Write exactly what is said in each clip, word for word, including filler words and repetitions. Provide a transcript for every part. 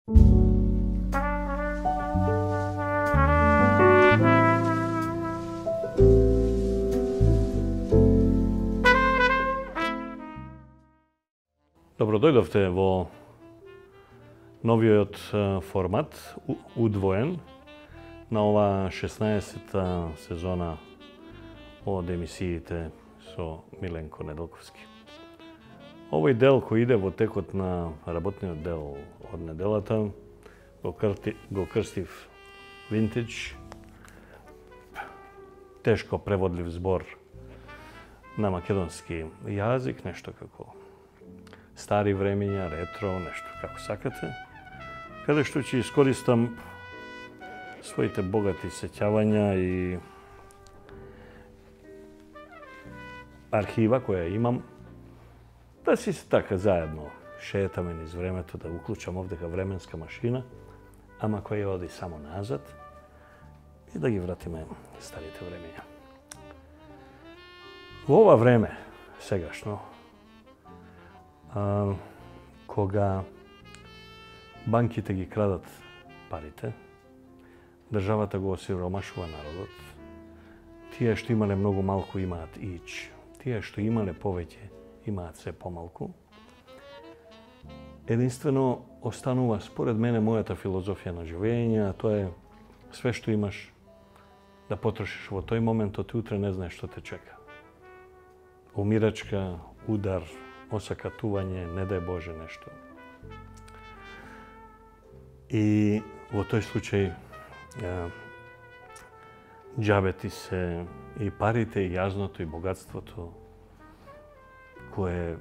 Добро дојдовте во новиот формат, удвоен, на ова шеснаесетта сезона од емисиите со Миленко Неделковски. Овој дел кој иде во текот на работниот дел од неделата го, крти, го крстив винтидж, тешко преводлив збор на македонски јазик, нешто како стари времења, ретро, нешто како сакате, каде што ќе искористам своите богати сеќавања и архива која имам, да си така заедно шетаме низ времето, да уклучам овдека временска машина, ама која оди само назад и да ги вратиме старите времења. Во ова време, сегашно, а, кога банките ги крадат парите, државата го осиромашува народот, тие што имале многу малку имаат ич, тие што имале повеќе имаат се помалку. Единствено останува, според мене, мојата филозофија на живење, а тоа е све што имаш да потрошиш во тој момент, ти утре не знаеш што те чека. Умирачка, удар, осакатување, не дај Боже нешто. И во тој случај џабе ти се и парите, и јазното, и богатството, кое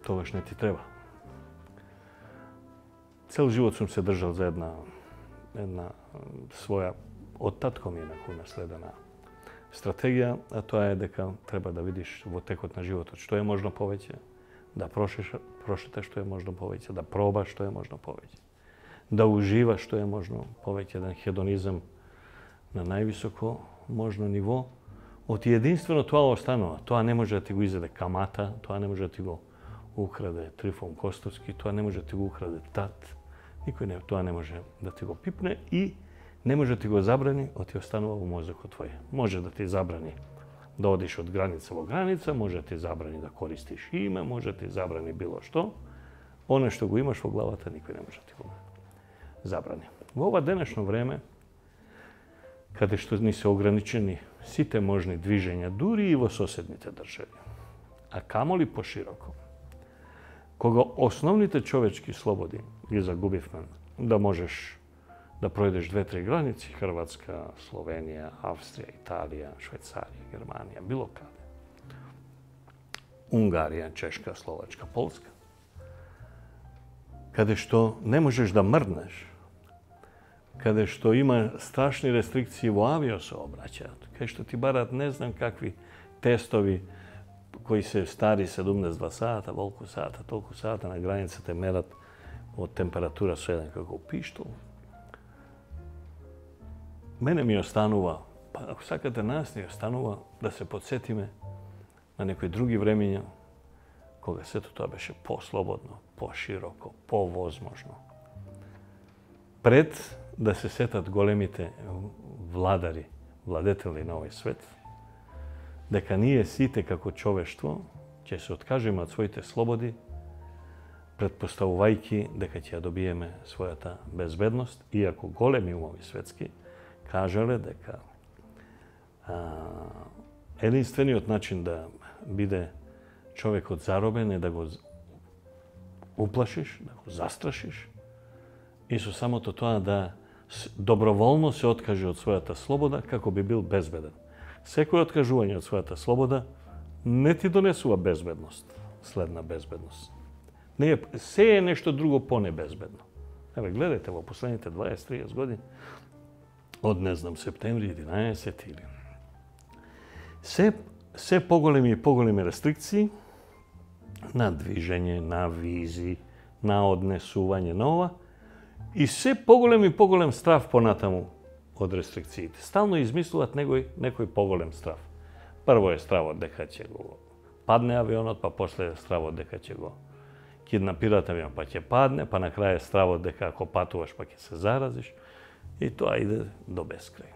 тогаш не ти треба. Цел живот сум се држал за една, една своја, од татко ми е наследена стратегија, а тоа е дека треба да видиш во текот на животот што е можно повеќе, да прошиш, прошеташ што е можно повеќе, да пробаш што е можно повеќе, да уживаш што е можно повеќе, еден хедонизам на највисоко можно ниво. Од единствено тоа останува. Тоа не може да ти го изеде камата, тоа не може да ти го украде Трифон Костовски, тоа не може да ти го украде тат, никој не, тоа не може да ти го пипне и не може да ти го забрани, од ти останува во мозокот твој. Може да ти забрани да одиш од граница во граница, може да ти забрани да користиш име, може да ти забрани било што. Оно што го имаш во главата, никој не може да ти го забрани. Во ова денешно време, каде што ни се ограничени сите можни движења, дури и во соседните држави, а камоли пошироко, кога основните човечки слободи ги загубивме, да можеш да пројдеш две-три граници, Хрватска, Словенија, Австрија, Италија, Швајцарија, Германија, било каде. Унгарија, Чешка, Словачка, Полска. Каде што не можеш да мрднеш, каде што има страшни рестрикции во авиосообраќајот, каде што ти барат не знам какви тестови кои се стари седумдесет и два сата, волку сата, толку сата на границата мерат од температура со еден како пиштол. Мене ми останува, па ако сакате нас ни останува да се подсетиме на некои други времења, кога сето тоа беше по-слободно, по-широко, по-возможно. Пред да се сетат големите владари, владетели на овој свет, дека ние сите како човештво ќе се откажеме од своите слободи, предпоставувајќи дека ќе ја добиеме својата безбедност, иако големи умови светски кажале дека а, единствениот начин да биде човекот заробен е да го уплашиш, да го застрашиш и со самото тоа да доброволно се откаже од својата слобода како би бил безбеден. Секој откажување од својата слобода не ти донесува безбедност, следна безбедност. Не е, се е нешто друго по-небезбедно. Еве, гледате во последните дваесет-триесет години, од, не знам, септември единаесет или... Се, се поголеми и поголеми рестрикции на движење, на визи, на однесување на ова, и се поголем и поголем страв понатаму од рестрикциите. Стално измислуваат некој, некој поголем страв. Прво е стравот дека ќе го падне авионот, па после е стравот дека ќе го киднапират авион, па ќе падне, па на крај е стравот дека ако патуваш па ќе се заразиш и тоа иде до бескрај.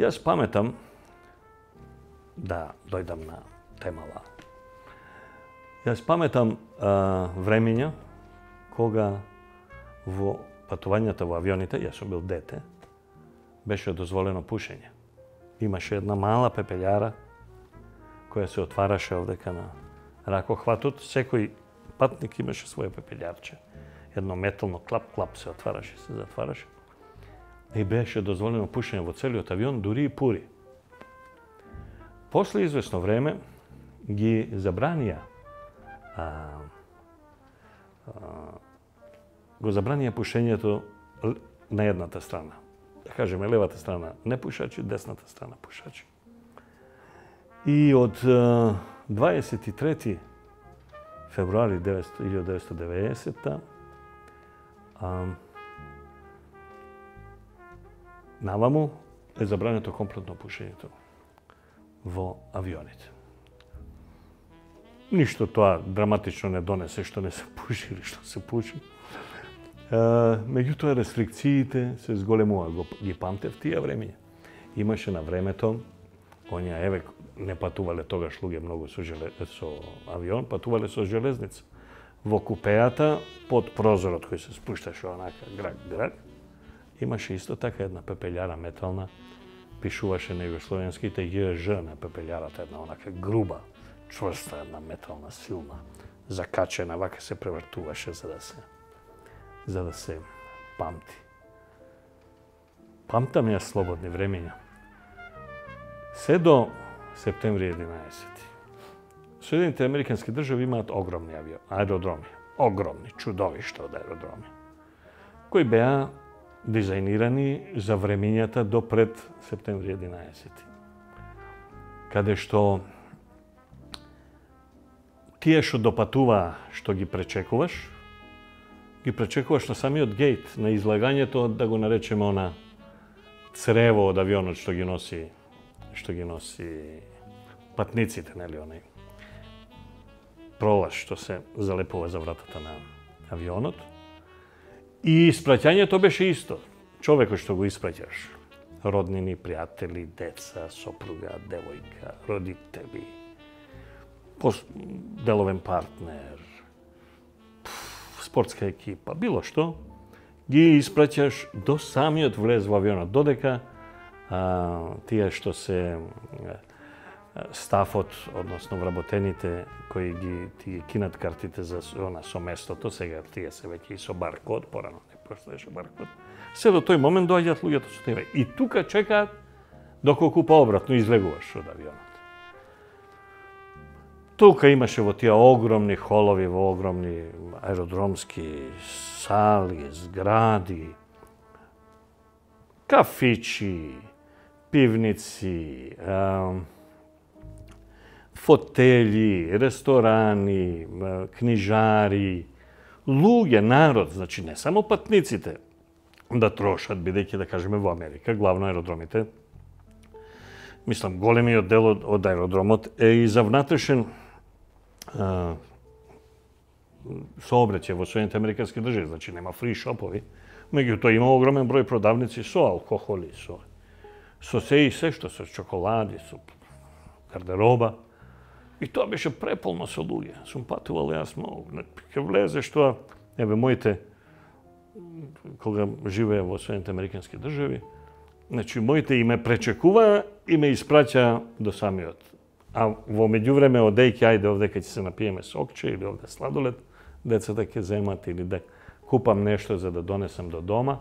Јас паметам да дојдам на темава. Јас паметам а, времења кога во патувањата во авионите, јас сум бил дете, беше дозволено пушење. Имаше една мала пепелјара која се отвараше овдека на ракохватот. Секој патник имаше своје пепелјарче. Едно метално клап-клап се отвараше, се затвараше. И беше дозволено пушење во целиот авион, дури и пури. После известно време ги забранија а, а, го забранија пушењето на едната страна. Да кажеме, левата страна не пушачи, десната страна пушачи. И од дваесет и трети февруари илјадесетстотини и деветдесета а, наваму е забрането комплетно пушењето во авионите. Ништо тоа драматично не донесе што не се пуши или што се пуши. Меѓутоа, рестрикциите се зголемува. Ги памтев тие времења. Имаше на времето, онија, еве, не патувале тогаш луѓе многу со, желе... со авион, патувале со железница. Во купејата, под прозорот кој се спушташе онака грак-грак, имаше исто така една пепелјара метална, пишуваше на југословенските Ј Ж на пепелјарата, една онака груба, чврста, една метална, силна, закачена, вака се превртуваше за да се за да се памти. Памтам ја слободни времења. Се до септември единаесети. Соединените американски држави имаат огромни авион, аеродроми, огромни, чудовишта од аеродроми, кои беа дизајнирани за времењата до пред септември единаесети. Каде што тие што допатува, што ги пречекуваш, ги пречекуваш на самиот гејт, на излагањето, да го наречеме она црево од авионот што ги носи, што ги носи патниците, нели, онај пролаз што се залепува за вратата на авионот. И испраќањето беше исто. Човекот што го испраќаш, роднини, пријатели, деца, сопруга, девојка, родители, деловен партнер, спортска екипа, било што, ги испраќаш до самиот влез во авионот, додека а, тие што се стафот, односно вработените кои ги тие кинат картите за она со местото, сега тие се веќе и со баркод, порано не постоеше баркод. Се до тој момент доаѓаат луѓето со тебе и тука чекаат доколку пообратно излегуваш од авионот. Тука имаше во тие огромни холови, во огромни аеродромски сали, згради, кафичи, пивници, фотели, ресторани, книжари, луѓе, народ, значи не само патниците да трошат, бидејќи да кажеме во Америка, главно аеродромите. Мислам, големиот дел од, од аеродромот е и за внатрешен а, сообраќај во Соединените американски држави, значи нема фри шопови, меѓутоа има огромен број продавници со алкохоли, со со се и се што, со чоколади, со гардероба. И тоа беше преполно со луѓе. Сум патувал јас многу. Ке влезеш тоа, еве моите, кога живеја во Соединените американски држави, значи моите и ме пречекува и ме испраќа до самиот. А во меѓувреме одејќи, ајде овдека ќе се напиеме сокче или овде сладолед, децата ќе земат или да купам нешто за да донесам до дома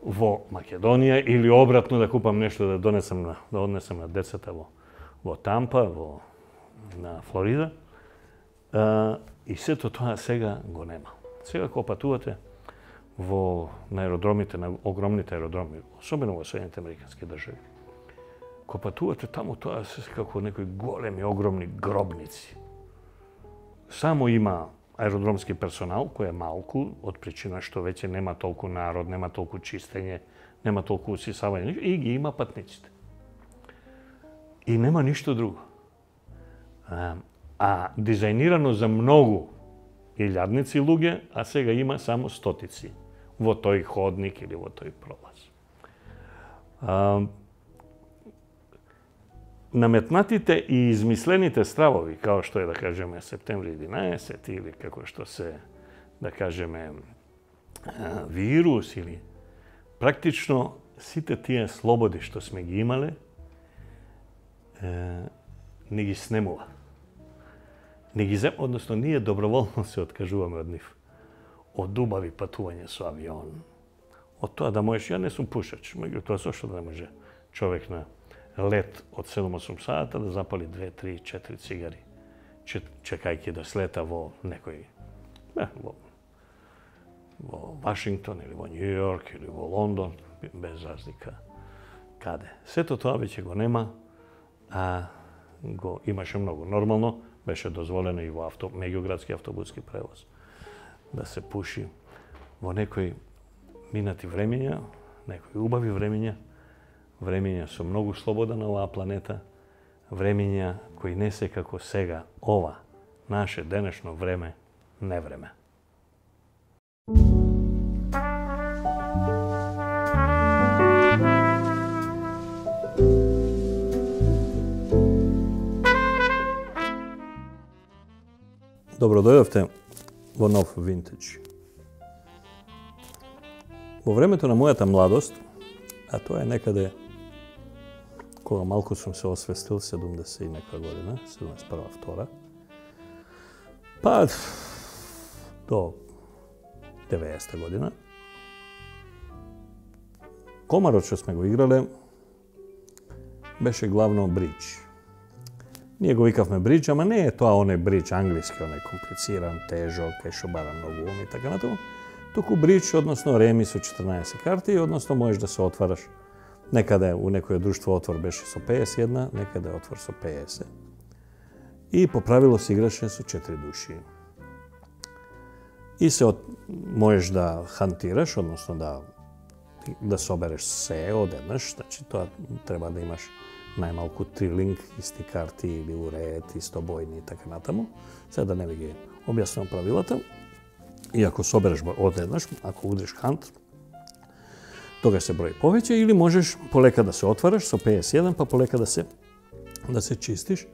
во Македонија или обратно да купам нешто да донесам на, да однесам на децата во во Тампа, во на Флорида. А, и сето тоа сега го нема. Сега кога патувате во на аеродромите, на огромните аеродроми, особено во Соединените американски држави, кога патувате таму, тоа се како некои големи, огромни гробници. Само има аеродромски персонал, кој е малку, од причина што веќе нема толку народ, нема толку чистење, нема толку усисавање, и ги има патниците. И нема ништо друго. А, а дизајнирано за многу илјадници луѓе, а сега има само стотици во тој ходник или во тој пролаз. А, наметнатите и измислените стравови, као што е, да кажеме, септември единаесет или како што се, да кажеме, вирус или практично сите тие слободи што сме ги имале, е, не ги снемува. Не ги зем, односно ние доброволно се откажуваме од нив. Од убави патување со авион. Од тоа да можеш, ја не сум пушач, меѓутоа зошто да не може човек на лет од седум-осум сата да запали две, три, четири цигари, чекајќи да слета во некој, не, во, во Вашингтон или во Њу Јорк или во Лондон, без разлика каде. Сето тоа веќе го нема, а го имаше многу. Нормално беше дозволено и во авто, меѓуградски автобуски превоз да се пуши во некои минати времења, некои убави времења, времења со многу слобода на оваа планета, времења кои не се како сега ова, наше денешно време, не време. Добро дојдовте во нов винтидж. Во времето на мојата младост, а тоа е некаде кога малку сум се освестил, седумдесет и некоја година, седумдесет и прва втора, па до деветдесета година, комарот што сме го играле беше главно бридж. Ние го викавме бридж, ама не е тоа оној бридж англиски, оној комплициран, тежок, кај што бара многу ум и така натаму, туку бридж, односно реми со четрнаесет карти, односно можеш да се отвараш. Некаде у некој друштво отвор беше со пеесет и една, некаде отвор со пеесет. И по правило се играше со четири души. И се от... можеш да хантираш, односно да да собереш се одеднаш, значи тоа треба да имаш најмалку три линк, исти карти или уред, исто бојни и така натаму. Сега да не ви ги објаснувам правилата. И ако собереш одеднаш, ако удриш хант, тогаш се брои повеќе, или можеш полека да се отвараш со пеесет и еден, па полека да се да се чистиш.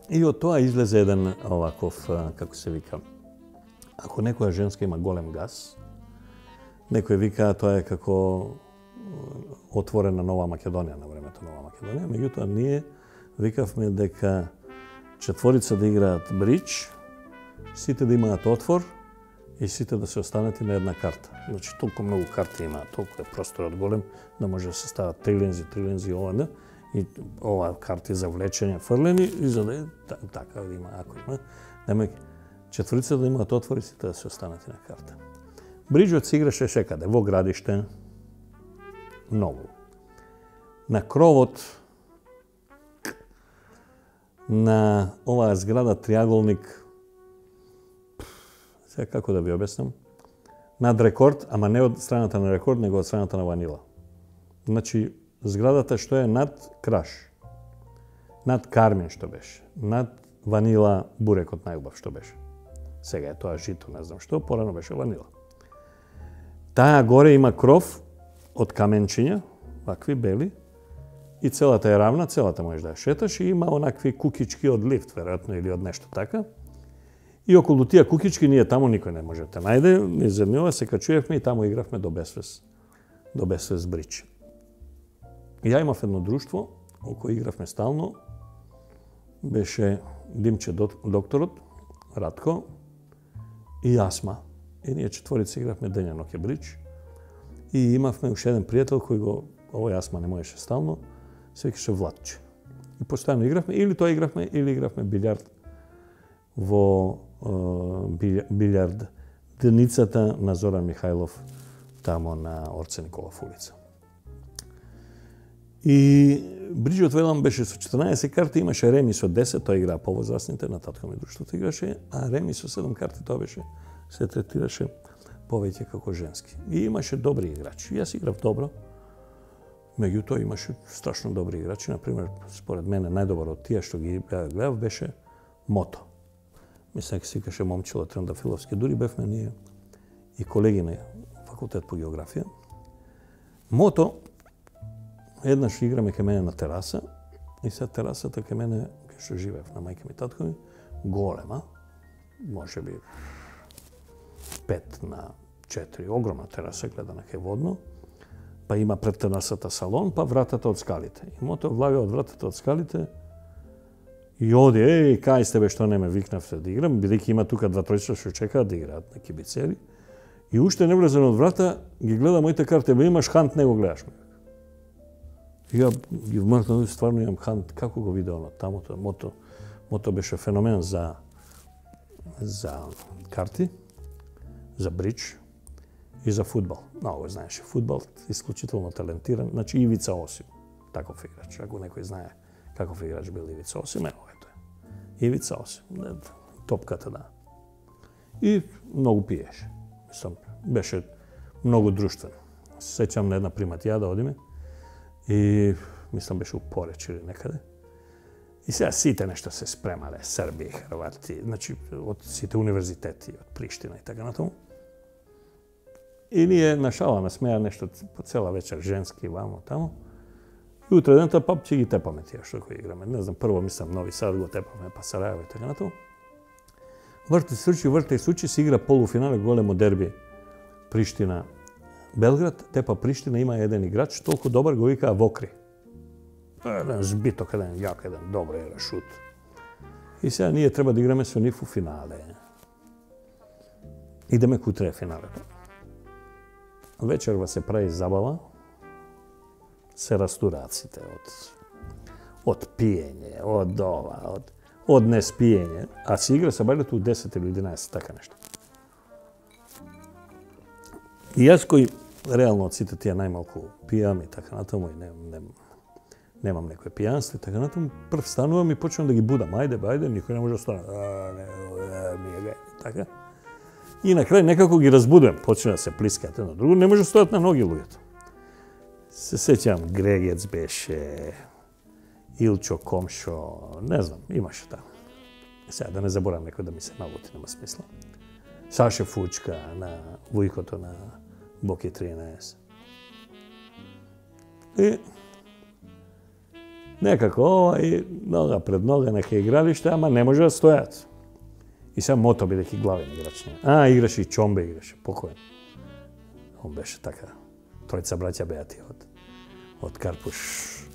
И од тоа излезе еден оваков, како се вика, ако некоја женска има голем газ, некој вика тоа е како отворена Нова Македонија на времето Нова Македонија, меѓутоа ние викавме дека четворица да играат бридж, сите да имаат отвор и сите да се останати на една карта. Значи толку многу карти има, толку е просторот голем да може да се стават три лензи, три лензи ова, и ова карти за влечење фрлени и за да е така да има, ако има, немајќи четворица да имаат отвор и сите да се останати на карта. Бриджот се играше секаде, во градиште, многу. На кровот на оваа зграда триаголник, сега како да ви објаснам, над рекорд, ама не од страната на рекорд, него од страната на ванила. Значи, зградата што е над краш, над кармин што беше, над ванила бурекот најубав што беше. Сега е тоа жито, не знам што, порано беше ванила. Таа горе има кров од каменчиња, вакви бели, и целата е равна, целата можеш да ја шеташ, и има онакви кукички од лифт, веројатно, или од нешто така. И околу тие кукички ние таму никој не може да најде, низ ова се качуевме и таму игравме до безвес, до безвес бридж. Ја имав едно друштво, околу игравме стално, беше Димче докторот, Радко и Асма. И ние четворица игравме дења ноќе бридж. И имавме уште еден пријател кој го, овој Асма не можеше стално, се викаше Владче. И постојано игравме, или тоа игравме, или игравме билјард во билјард деницата на Зоран Михајлов, тамо на Орце Николов улица. И бриджот велам беше со четрнаесет карти, имаше реми со десет, тоа играа повозрасните, на татко ми друштвото играше, а реми со седум карти тоа беше, се третираше повеќе како женски. И имаше добри играчи. Јас играв добро, меѓутоа имаше страшно добри играчи. Например, според мене најдобар од тие што ги гледав беше Мото. Мислам, дека се викаше момчило Трендафиловски. Дури бевме ние и колеги на факултет по географија. Мото, еднаш играме кај мене на тераса и сега терасата кај мене, кај што живеев на мајка ми и татко ми, голема, може би пет на четири, огромна тераса, гледана кај водно, па има пред терасата салон, па вратата од скалите. И Мото влага од вратата од скалите и оди, еј, кај сте бе, што не ме викнавте да играм, бидејќи има тука два тројца што чекаат да играат на кибицери. И уште не влезен од врата, ги гледа моите карти, бе имаш хант, не го гледаш ме. И ја ги вмртнав, стварно имам хант, како го видео на тамото, Мото, Мото беше феномен за за карти, за бридж и за фудбал. Много знаеше фудбал, исклучително талентиран, значи Ивица Осим, таков играч. Ако некој знае каков играч бил Ивица Осим, ево ето е. Ивица Осим, топката да. И многу пиеше. Мислам, беше многу друштвен. Сеќам на една приматија да одиме и мислам беше у Пореч или некаде. И сега сите нешто се спремале, Срби, Хрвати, значи од сите универзитети, од Приштина и така натаму. И ние на шала ме смеа нешто по цела вечер, женски, вамо, тамо. И утре дента па ќе ги тепаме тие што кои играме. Не знам, прво мислам Нови Сад го тепаме, па Сараево и така натаму. Врти се случи, врти се случи, се игра полуфинале големо дерби Приштина Белград. Тепа Приштина има еден играч, толку добар го викаа Вокри. Еден збиток, еден јак, еден добар игра шут. И сега ние треба да играме со нив у финале. Идеме кутре финалето. Вечерва се прави забава, се растураците од од пиење, од ова, од од неспиење, а се игра сабајлето у десет или единаесет, така нешто. И јас кој реално од сите тие најмалку пијам и така натаму и не, не, немам некој пијанство и така натаму, прв станувам и почнам да ги будам. Ајде, бе, ајде, никој не може да стане. А, не, не, не, така. И на крај некако ги разбудувам, почна да се плискаат едно друго, не може да стојат на ноги луѓето. Се сеќам, Грегец беше, Илчо Комшо, не знам, имаше таму. Сега да не заборам некој да ми се налути, нема смисла. Саше Фучка на вујкото на Боки тринаесет. И некако ова и нога пред нога нека игралиште, ама не може да стојат. И сега Мото бидејќи главен играч. А, играше и Чомбе играше, покоен. Он беше така. Тројца браќа беа тие од, од Карпуш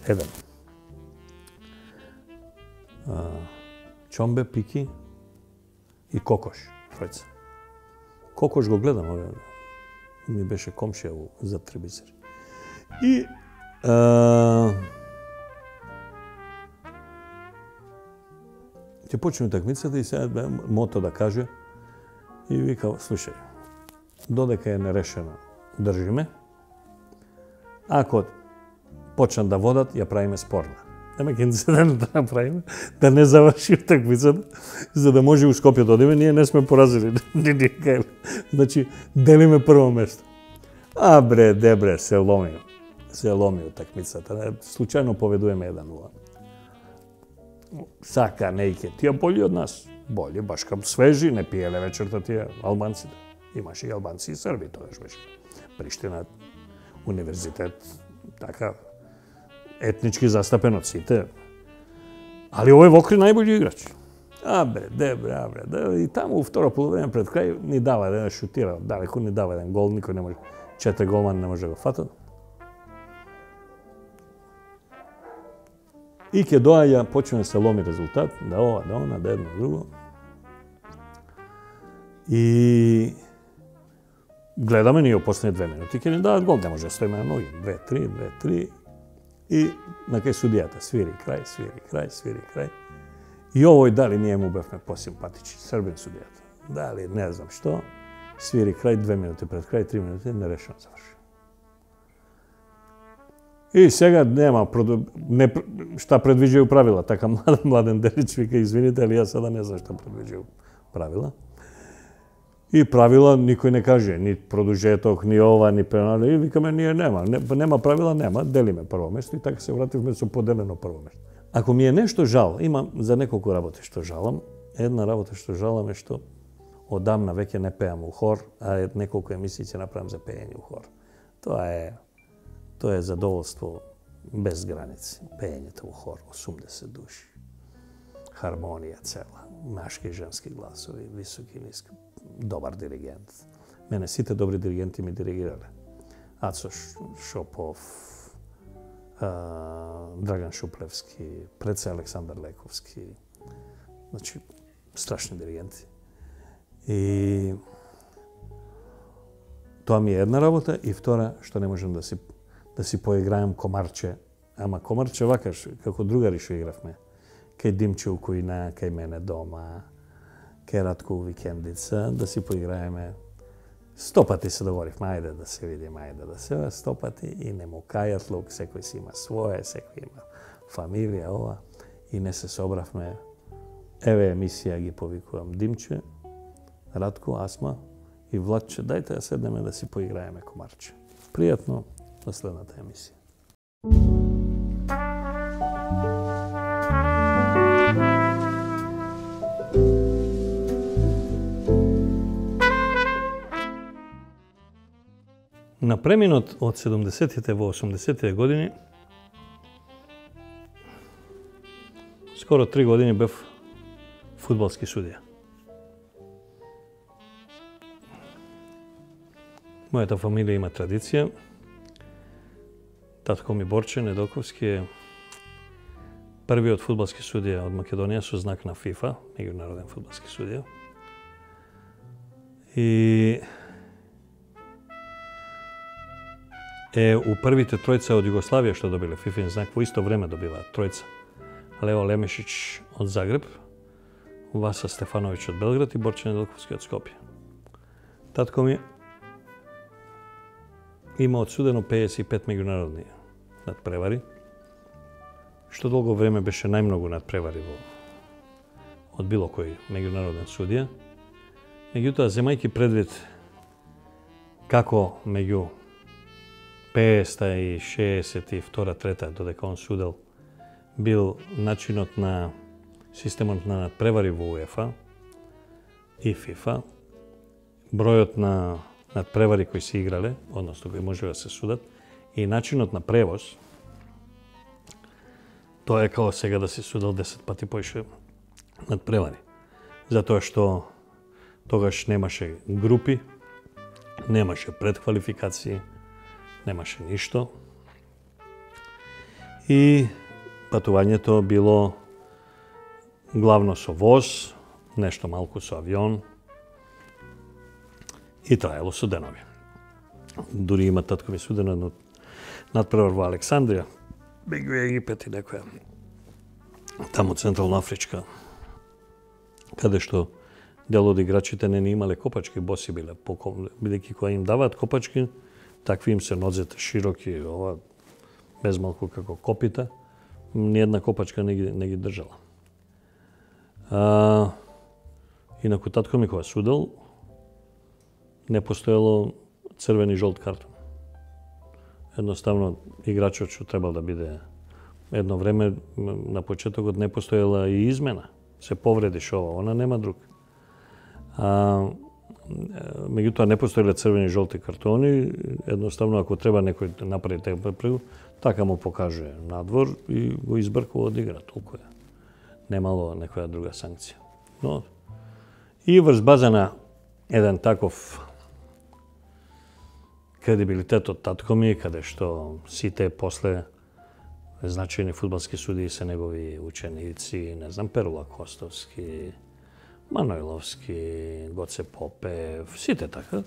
еден. А, Чомбе, Пики и Кокош, тројца. Кокош го гледам, овие, ми беше комшија за Трибисер. И а, ќе почне такмицата и сега Мото да каже и вика, слушај, додека е нерешено, држиме. Ако почнат да водат, ја правиме спорна. Нема ке да не направиме, да не заврши такмицата, за да може у Скопје да одиме, ние не сме поразили. Значи, делиме прво место. А бре, дебре, се ломи. Се ломи од такмицата. Случајно поведуваме еден нула. Сака, нејке, тие боли од нас. Боли, баш кам свежи, не пиеле вечерта тие албанците. Имаше и албанци и срби, тогаш беше. Приштина, универзитет, така, етнички застапен од сите. Али овој Вокри најбољи играч. А бре, де бре, а бре, де, и таму у второ полувреме пред крај ни дава еден шутира, далеко ни дава еден гол, никој не може, четири голмани не може да го фатат. И ќе доаѓа, почне да се ломи резултат, да ова, да она, да едно, друго. И гледаме ние после две минути, ќе ни дадат гол, не може да стоиме на ноги. Две, три, две, три. И на кај судијата свири крај, свири крај, свири крај. И овој дали ние му бевме посимпатични, србин судијата. Дали не знам што, свири крај, две минути пред крај, три минути, нерешено заврши. И сега нема, не, шта предвиđaju правила, така младен, младен делич вика, извините, али јас сада не знам шта предвиđaju правила. И правила никој не каже, ни продужеток, ни ова, ни пенали. И викаме, ние нема, нема правила, нема, делиме прво место и така се вративме со поделено прво место. Ако ми е нешто жал, имам за неколку работи што жалам, една работа што жалам е што одамна веќе не пеам у хор, а неколку емисии ќе направам за пеење у хор. Тоа е тоа е задоволство без граници. Пеењето у хор, осумдесет души. Хармонија цела, машки и женски гласови, високи и ниски, добар диригент. Мене сите добри диригенти ми диригирале. Ацо Шопов, Драган Шуплевски, преце Александар Лековски. Значи, страшни диригенти. И тоа ми е една работа и втора што не можем да си да си поиграем комарче. Ама комарче вакаш како другари што игравме. Кај Димче у кујна, кај мене дома, кај Радко у викендица, да си поиграеме. Сто пати се договоривме, ајде да се видиме, ајде да се, сто пати и не му кајат лук, секој си има свое, секој има фамилија, ова. И не се собравме. Еве емисија ги повикувам Димче, Радко, Асма и Владче, дајте да седнеме да си поиграеме комарче. Пријатно на следната емисија. На преминот од седумдесетите во осумдесетите години, скоро три години бев фудбалски судија. Мојата фамилија има традиција. Татко ми Борче Недолковски е првиот фудбалски судија од Македонија со знак на ФИФА, меѓународен фудбалски судија. И е у првите тројца од Југославија што добиле фифин знак, во исто време добиваат тројца. Лео Лемешич од Загреб, Васа Стефановиќ од Белград и Борче Недолковски од Скопје. Татко ми има одсудено пеесет и пет меѓународни надпревари, што долго време беше најмногу надпревари во од било кој меѓународен судија. Меѓутоа, земајќи предвид како меѓу пеесет и шеесет и втора, трета, додека он судел, бил начинот на системот на надпревари во УЕФА и ФИФА, бројот на надпревари кои се играле, односно кои може да се судат, и начинот на превоз, тоа е као сега да се судел десет пати поише надпревари. Затоа што тогаш немаше групи, немаше предквалификации, немаше ништо. И патувањето било главно со воз, нешто малку со авион и траело со денови. Дури има татко ми судено едно надпревар во Александрија, беги Египет и некоја таму Централно Афричка, каде што дел од играчите не имале копачки, боси биле, бидејќи кога им даваат копачки, такви им се нозете широки, ова без малку како копита, ниедна копачка не ги, не ги држала. А, инаку татко ми кога судел, не постоело црвен и жолт картон. Едноставно, играчот што требал да биде едно време, на почетокот не постоела и измена. Се повредиш ова, она нема друг. А, меѓутоа не постоеле црвени и жолти картони, едноставно ако треба некој да направи тепрепрегу, така му покаже надвор и го избркува од игра, толку е. Немало некоја друга санкција. Но и врз база на еден таков кредибилитет од татко ми, каде што сите после значајни фудбалски судии се негови ученици, не знам, Перула Костовски, Манојловски, Гоце Попев, сите така.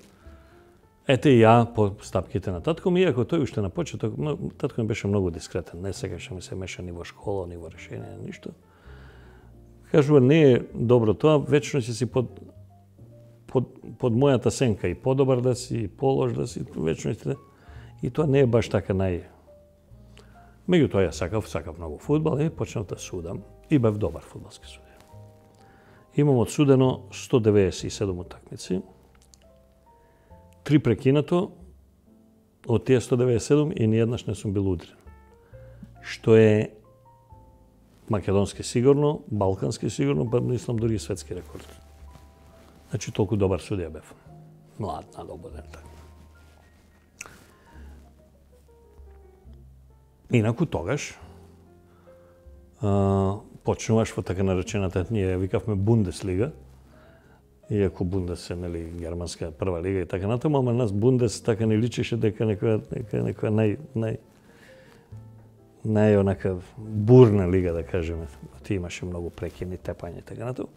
Ете и ја по стапките на татко ми, иако тој уште на почеток, татко ми беше многу дискретен, не сакаше ми се меша ни во школа, ни во решение, ништо. Кажува, не е добро тоа, вечно си си под, под, под мојата сенка, и подобар да си, и полош да си, вечно си, и тоа не е баш така нај... Меѓутоа ја сакав, сакав многу фудбал и почнав да судам и бев добар фудбалски судија. Имам одсудено сто деветдесет и седум утакмици, три прекинато, од тие сто деветдесет и седум и ниеднаш не сум бил удрен. Што е македонски сигурно, балкански сигурно, па мислам дури и светски рекорд. Значи толку добар судија бев. Млад, надобуден така. Инаку тогаш а, почнуваш во така наречената, ние викавме Бундеслига, иако Бундес е, нели, германска прва лига и така натаму, ама нас Бундес така не личеше дека некоја нека некоја нај нај нај онака бурна лига, да кажеме. Ти имаше многу прекини, тепање и така натаму.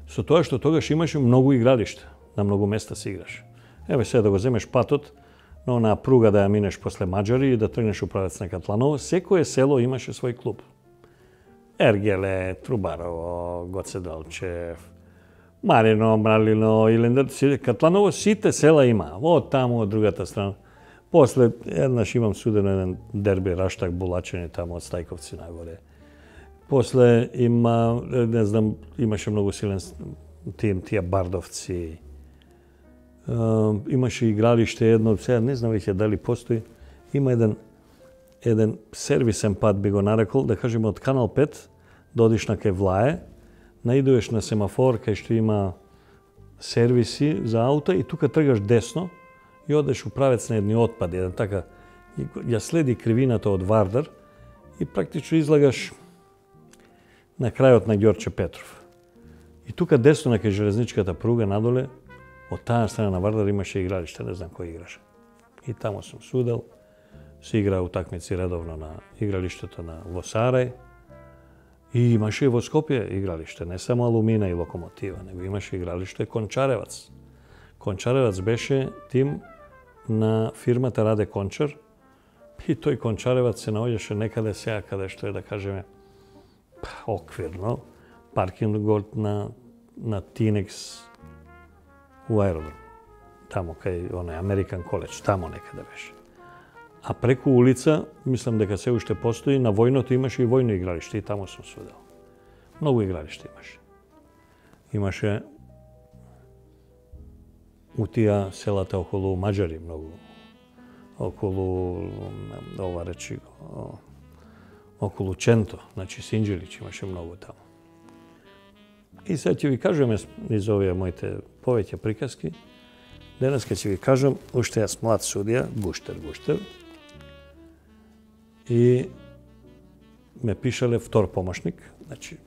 Со тоа што тогаш имаше многу игралишта, на многу места се играш. Еве сега да го земеш патот на онаа пруга да ја минеш после Маđари и да тргнеш у правец на Катланово, секое село имаше свој клуб. Ергеле, Трубарово, Гоце Делчев, Марино, Мралино, Илендер, Катланово, сите села има. Од таму, од другата страна. После, еднаш имам судено еден дерби Раштак Булачени таму од Стајковци нагоре. После има, не знам, имаше многу силен тим, тие Бардовци. Uh, имаше игралиште едно, сега не знам веќе дали постои, има еден еден сервисен пат би го нарекол, да кажеме од Канал пет, да одиш на кај Влае, наидуваш на семафор кај што има сервиси за аута и тука тргаш десно и одеш у правец на едни отпади, еден така, и ја следи кривината од Вардар и практично излагаш на крајот на Ѓорче Петров. И тука десно на кај железничката пруга надоле, од таа страна на Вардар имаше игралиште, не знам кој играше. И таму сум судел, се игра утакмици редовно на игралиштето на во Сарај. И имаше и во Скопје игралиште, не само Алумина и Локомотива, него имаше игралиште Кончаревац. Кончаревац беше тим на фирмата Раде Кончар и тој Кончаревац се наоѓаше некаде сега каде што е, да кажеме, оквирно, паркингот на, на Тинекс у аеродром. Таму кај оној Американ коледж, таму некаде беше. А преку улица, мислам дека се уште постои, на војното имаше и војно игралиште и таму сум судел. Многу игралиште имаше. Имаше у тија селата околу Маđари многу. Околу, ова речи, околу Ченто, значи Синџелич имаше многу таму. И сега ќе ви кажем из овие моите повеќе приказки. Денеска ќе ви кажам, уште јас млад судија, Гуштер Гуштер, и ме пишале втор помошник, значи,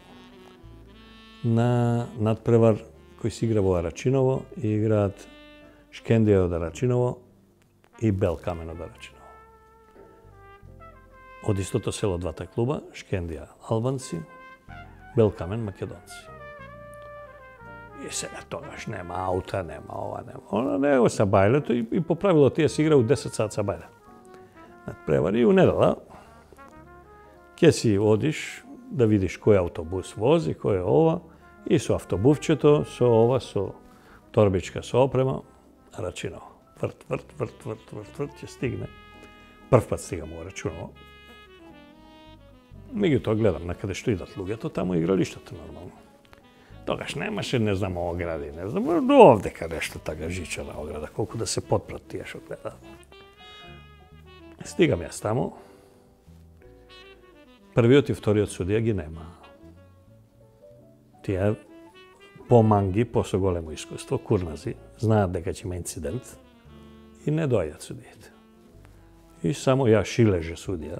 на надпревар кој се игра во Арачиново и играат Шкендија од Арачиново и Белкамен од Арачиново. Од истото село двата клуба, Шкендија албанци, Белкамен македонци. И сега тогаш нема аута, нема ова, нема она, него са бајлето и, и по правило тие се игра у десет сат са бајле. Надпревари и у недела ќе си одиш да видиш кој автобус вози, кој е ова, и со автобусчето, со ова, со торбичка со опрема, Арачиново. Врт, врт, врт, врт, врт, врт, ќе стигне. Прв пат стигам во Арачиново. Меѓутоа гледам на каде што идат луѓето, таму игралиштето нормално. Тогаш немаше, не знам, огради, не знам, до овдека нешто така жичана ограда, колку да се потпрат тие што гледаат. Стигам јас таму. Првиот и вториот судија ги нема. Тие поманги, посо големо искуство, курнази, знаат дека ќе има инцидент и не доаѓаат судиите. И само ја Шилеже судија,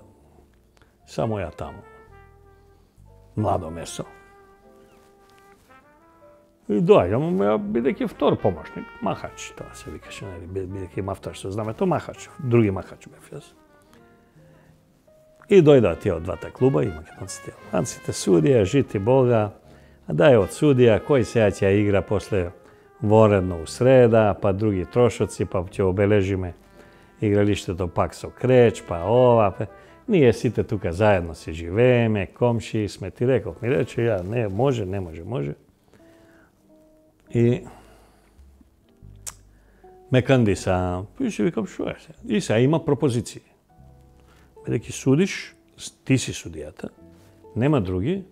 само ја таму. Младо месо. И доаѓам, ја бидејќи втор помошник, махач, тоа се викаше, бидејќи мафтар што знаме, тоа махач, други махач бев јас. И дојдоа тие од двата клуба и македонците. Албанците судија, жити Бога, а дај од судија, кој сега ќе игра после воредно у среда, па други трошоци, па ќе обележиме игралиштето пак со креч, па ова, па... Ние сите тука заедно си живееме, комши сме, ти реков, ми рече ја, не, може, не може, може. И ме кандиса, и си викам, шо е се? И сега има пропозиции. Бидејќи судиш, ти си судијата, нема други,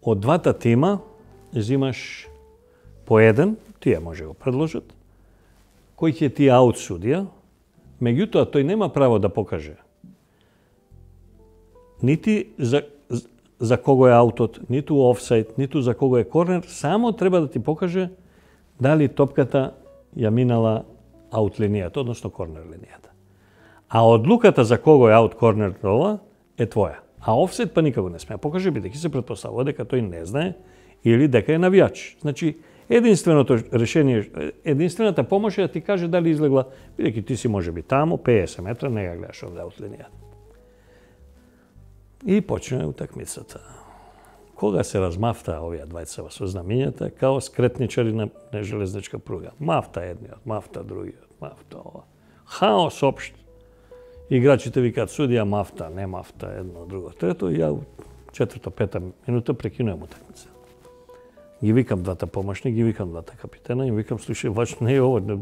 од двата тима взимаш по еден, тие може го предложат, кој ќе ти аут судија, меѓутоа тој нема право да покаже нити за, за кого е аутот, ниту офсайд, ниту за кого е корнер, само треба да ти покаже дали топката ја минала аут линијата, односно корнер линијата. А одлуката за кого е аут, корнер, ова е твоја. А офсайд па никако не сме покаже, бидејќи се претпоставува дека тој не знае или дека е навијач. Значи, единственото решение, единствената помош е да ти каже дали излегла, бидејќи ти си може би таму, педесет метра, не ја гледаш овде аут линијата. И почне утакмицата. Кога се размафта овие двајца со знамињата, као скретничари на, на железничка пруга. Мафта едниот, мафта другиот, мафта ова. Хаос општ. Играчите викаат судија мафта, не мафта, едно, друго, трето. И ја четврта, пета минута прекинувам утакмица. Ги викам двата помошни, ги викам двата капитена и викам, слушај, вач не е ово,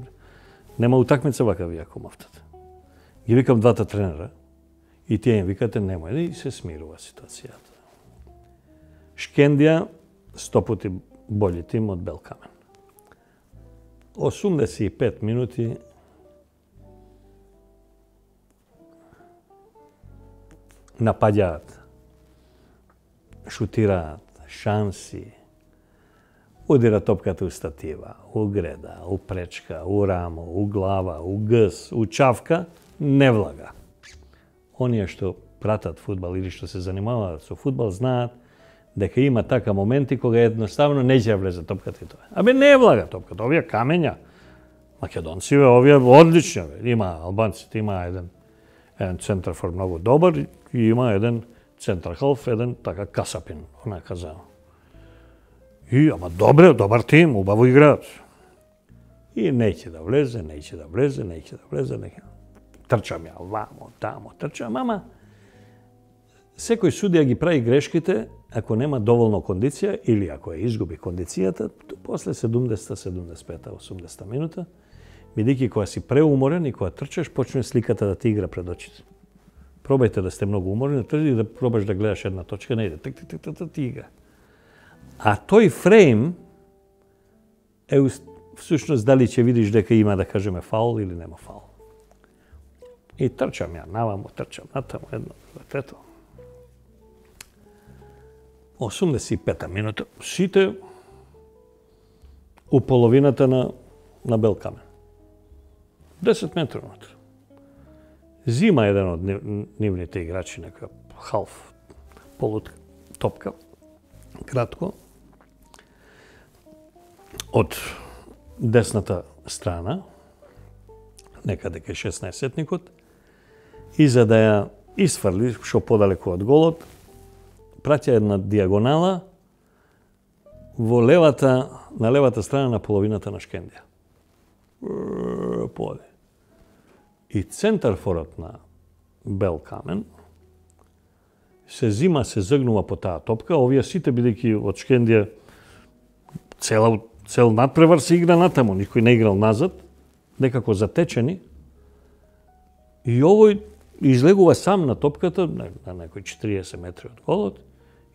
нема утакмица вака ви ако мафтата. Ги викам двата тренера и тие им викате нема и се смирува ситуацијата. Шкендија сто пати бољи тим од Белкамен. осумдесет и пет минути напаѓаат, шутираат, шанси, удира топката у статива, у греда, у пречка, у рамо, у глава, у гс, у чавка, не влага. Оние што пратат фудбал или што се занимаваат со фудбал знаат дека има така моменти кога едноставно не ќе влезе топката и тоа. Абе не влага топката, овие камења, македонциве, овие одлични, има албанците, има еден еден центарфор многу добар и има еден центрхалф, еден така касапин, онака за. И ама добре, добар тим, убаво играат. И неќе да влезе, неќе да влезе, неќе да влезе, неќе. Трчам ја вамо, тамо, трчам, ама секој судија ги прави грешките ако нема доволно кондиција или ако ја изгуби кондицијата, после седумдесета, седумдесет и пета, осумдесета минута, бидејќи кога си преуморен и кога трчаш, почне сликата да ти игра пред очите. Пробајте да сте многу уморени, трчи да пробаш да гледаш една точка, не иде, тик, тик, тик, тик, ти игра. А тој фрейм е всушност дали ќе видиш дека има, да кажеме, фаул или нема фаул. И трчам ја, навамо, трчам, натаму, едно, трето. осумдесет и пета минута, сите у половината на, на Белкамен. десет метри внатре. Зима еден од нивните играчи, нека халф, полут топка, кратко, од десната страна, некаде кај шеснаесетникот, и за да ја исфрли што подалеку од голот, праќа една диагонала во левата, на левата страна на половината на Шкендија. Поде. И центарфорот на Белкамен се зима, се загнува по таа топка, овие сите бидејќи од Шкендија цел, цел надпревар се игра натаму, никој не играл назад, некако затечени. И овој излегува сам на топката, на, на некои четириесет метри од голот,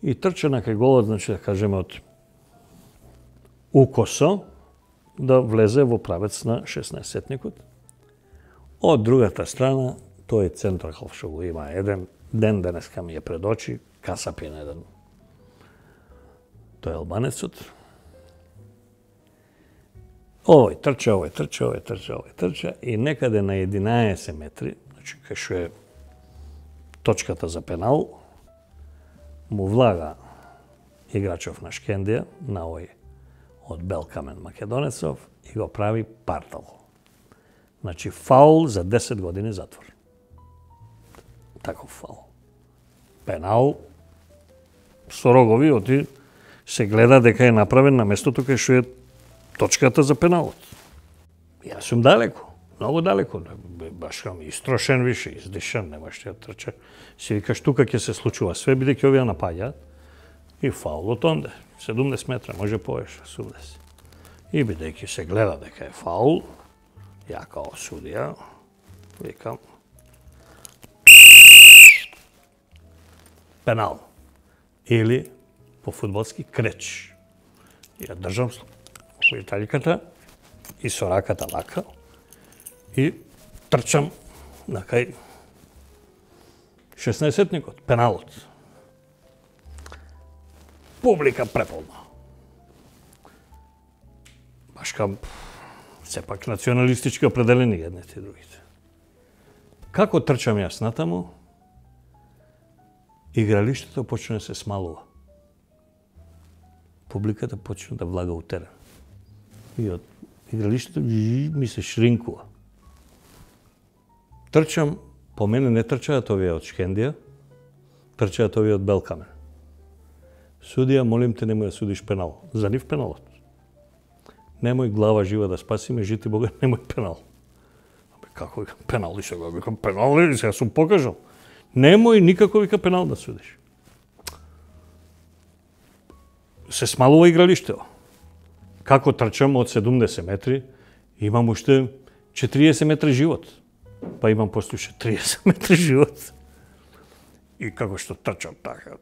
и трча на кај голот, значи да кажеме од укосо, да влезе во правец на шеснаесетникот. Од другата страна, тој центрхалф што го има еден ден, денеска ми е пред очи, касапин еден. Тој е албанецот. Овој трча, овој трча, овој трча, овој трча и некаде на единаесет метри, значи кај што е точката за пенал, му влага играчов на Шкендија, на овој од Белкамен македонецов и го прави партал. Значи фаул за десет години затвор. Таков фаул. Пенал со рогови, оти се гледа дека е направен на местото кај што е точката за пеналот. Јас сум далеко, многу далеко, баш кам истрошен више, издишан, нема што ја трча. Си викаш тука ќе се случува све, бидејќи овие напаѓаат и фаулот онде, седумдесет метра, може повеќе, осумдесет. И бидејќи се гледа дека е фаул, ја као судија викам пенал или по фудбалски креч. Ја држам шујталиката и со раката вака и трчам на кај шеснаесетникот, пеналот. публика преполна. Баш кам сепак националистички определени едните и другите. Како трчам јас натаму, игралиштето почне да се смалува. Публиката почне да влага у терен. И од игралиштето ми се шринкува. Трчам, по мене не трчаат овие од Шкендија, трчаат овие од Белкамен. Судија, молим те, немој да судиш пенал. За нив пеналот. Немој глава жива да спасиме, жити Бога, немој пенал. Абе, како вика пенал, и сега викам пенал, и сега сум покажал. Немој никако вика пенал да судиш. Се смалува игралиштето. Како трчам од седумдесет метри, имам уште четириесет метри живот. Па имам после уште триесет метри живот. И како што трчам така,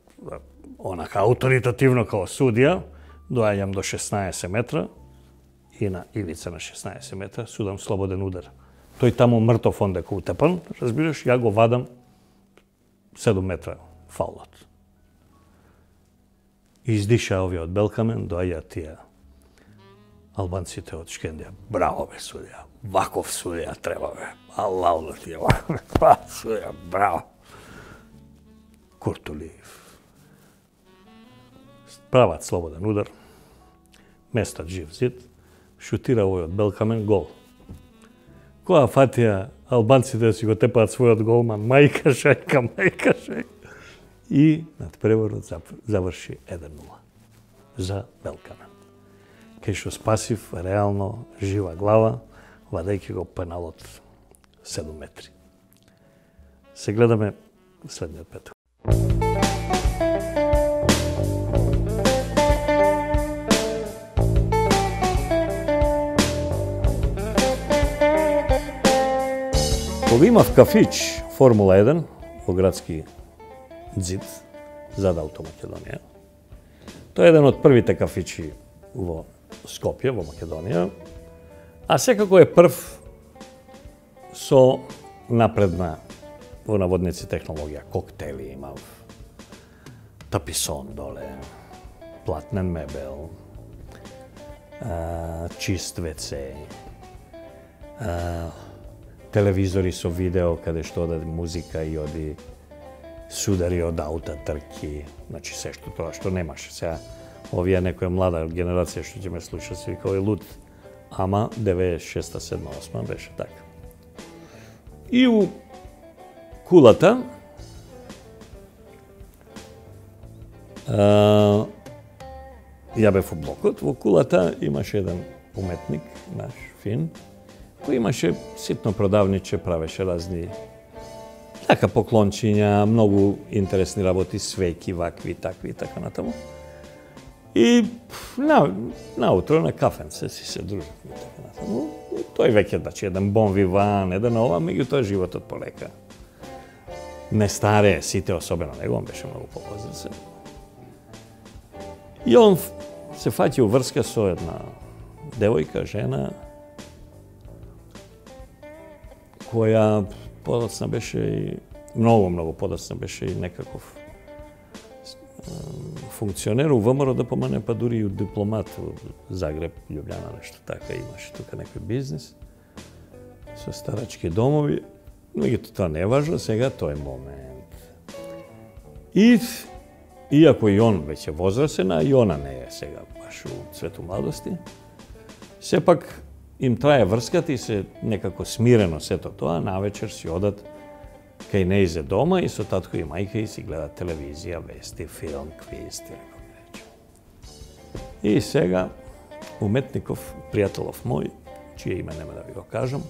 онака ауторитативно као судија, доаѓам до шеснаесет метра и на ивица на шеснаесет метра судам слободен удар. Тој таму мртов ондека утепан, разбираш, ја го вадам седум метра фаулот. Издиша овие од Белкамен, доаѓаат тие албанците од Шкендија. Браво бе судија, ваков судија треба бе. Аллау ти е ваков судија, браво. Куртулиев. Прават слободен удар, местат жив зид, шутира овој од Белкамен, гол. Која фатија албанците да си го тепаат својот голман, мајка шајка, мајка шајка. И надпреворот заврши еден нула за Белкамен. Кај што спасив реално жива глава, вадајќи го пеналот седум метри. Се гледаме следниот петок. Кога имав кафич Формула еден во градски ѕид зад Автомакедонија, тоа е еден од првите кафичи во Скопје, во Македонија, а секако е прв со напредна во наводници технологија. Коктели имав, таписон доле, платнен мебел, чист вце, телевизори со видео каде што оди музика и оди судари од аута, трки, значи се што тоа што немаше. Сега овие некоја млада генерација што ќе ме слуша се вика овој луд, ама деветдесет и шеста, седма, осма беше така. И у кулата а, ја бев у блокот, во кулата имаше еден уметник, наш фин, кој имаше ситно продавниче, правеше разни така поклончиња, многу интересни работи, свеки, вакви, такви и така натаму. И на, наутро на кафенце си се дружат и така натаму. И тој веќе, значи, еден бон виван, еден ова, меѓутоа животот полека не старее, сите особено него, он беше многу попозрачен. И он се фаќа врска со една девојка, жена, која подоцна беше и многу, многу подоцна беше и некаков функционер у ВМРО да помане, па дури и дипломат у Загреб, Љубљана, нешто така, имаше тука некој бизнис со старачки домови. Меѓутоа тоа не е важно, сега тој момент. И иако и он веќе возрасен, а и она не е сега баш у цвету младости, сепак им трае врската и се некако смирено сето тоа, навечер си одат кај нејзе дома и со татко и мајка и си гледат телевизија, вести, филм, квиз, како рече. И сега уметников, пријателов мој, чие име нема да ви го кажам,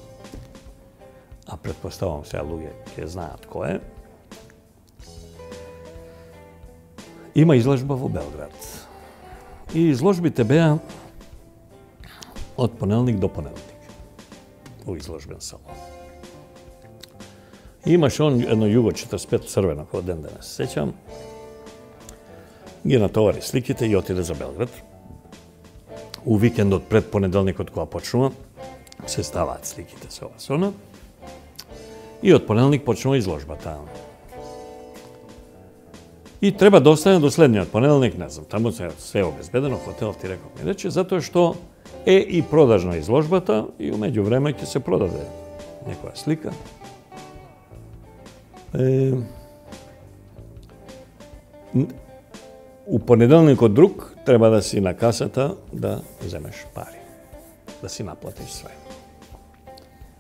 а предпоставам сега луѓе ќе знаат кој е, има изложба во Белград. И изложбите беа од понеделник до понеделник во изложбен салон. И имаше он едно југо четрдесет и пет црвено, кој ден денес се сеќам, ги натовари сликите и отиде за Белград. У викендот пред понеделникот кога почнува, се ставаат сликите со ова со она. И од понеделник почнува изложбата. И треба да остане до следниот понеделник, не знам, таму се све обезбедено, хотелов ти реков ми рече, затоа што е и продажна изложбата и умеѓу време ќе се продаде некоја слика. Е, у понеделникот друг треба да си на касата да земеш пари, да си наплатиш све.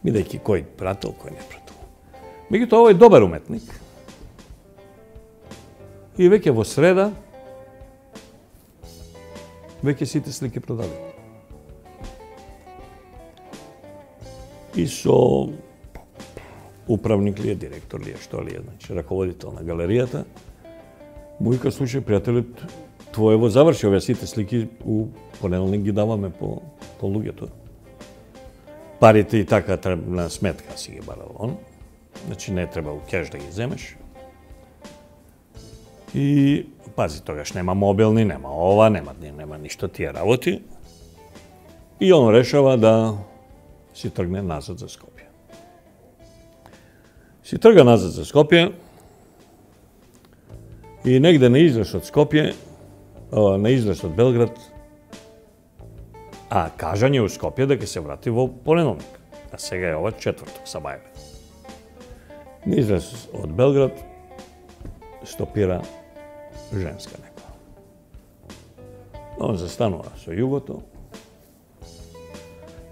Бидејќи кој пратил, кој не пратил. Меѓутоа, овој добар уметник и веќе во среда веќе сите слики продаде. И со управник ли е, директор ли е, што ли е, значи раководител на галеријата, му вика, слушај, пријателот, твоево заврши овие сите слики, у понеделник ги даваме по, по луѓето. Парите и така на сметка си ги барал он, значи не треба у кеш да ги земеш. И пази, тогаш нема мобилни, нема ова, нема, нема ништо тие работи. И он решава да си тргне назад за Скопје. Си трга назад за Скопје и негде на излез од Скопје, на излез од Белград, а кажање у Скопје да ќе се врати во понеделник. А сега е ова четврток, сабајле. На излез од Белград стопира женска некоја. Он застанува со југото.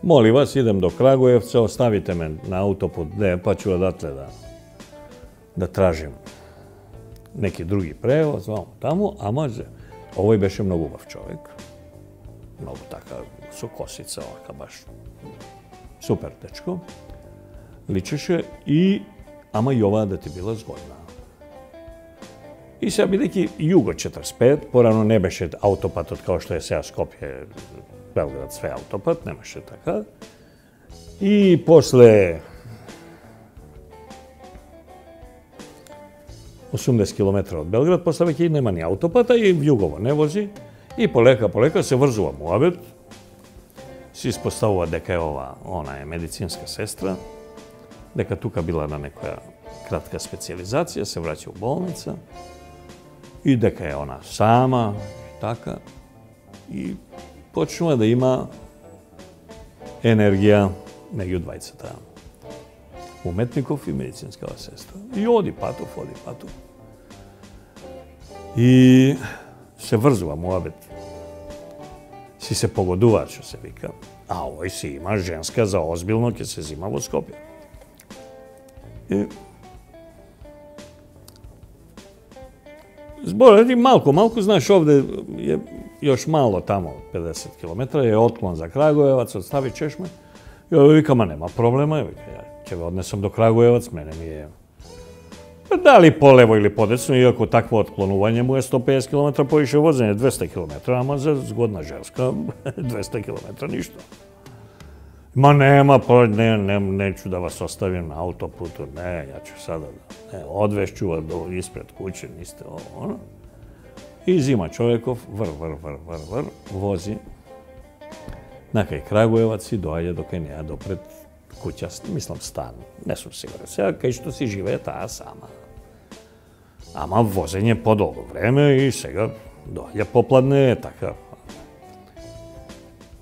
Моли вас, идем до Крагуевца, оставите ме на аутопут, не, па ću одатле да, да тражим неки други превоз, вамо таму, ама овој беше многу убав човек. Многу така, со косица, овака баш супер дечко. Личеше и, ама и оваа да ти била згодна. И сега бидејќи југо четрдесет и пет, порано не беше аутопатот као што е сега Скопје, Белград, све аутопат, немаше така. И после осумдесет километра од Белград, после веќе нема ни аутопата и југово не вози. И полека, полека се врзува муабет. Се испоставува дека е ова, она е медицинска сестра, дека тука била на некоја кратка специализација, се враќа у болница и дека е она сама, така. И почнува да има енергија меѓу двајцата. Уметников и медицинскава сестра. И оди патов, оди патов. И се врзува муабет. Си се погодуваат, што се вика. А овој си има женска за озбилно, ќе се зима во Скопје. И зборот и малку, малку, знаеш, овде е још мало тамо, педесет километра, е отклон за Крагуевац, од Стари Чешме. И овој вика, ма нема проблема, вика, ја ќе ве однесам до Крагуевац, мене ми е дали полево или подесно, иако такво отклонување му е сто педесет километра поише возење, двесте километра, ама за згодна женска двесте километра ништо. Ма нема, не, не, неću да вас оставим на аутопуту, не, ја ću sada да, не, одвешću вас до испред куќе, нисте ово, оно. И зима човеков, вр, вр, вр, вр, вр, вози на кај Крагуевац и доаѓа до кај неа допред куќа, мислам стан, не сум сигурен. Сега кај што си живее таа сама. Ама возење подолго време и сега доаѓа попладне, така.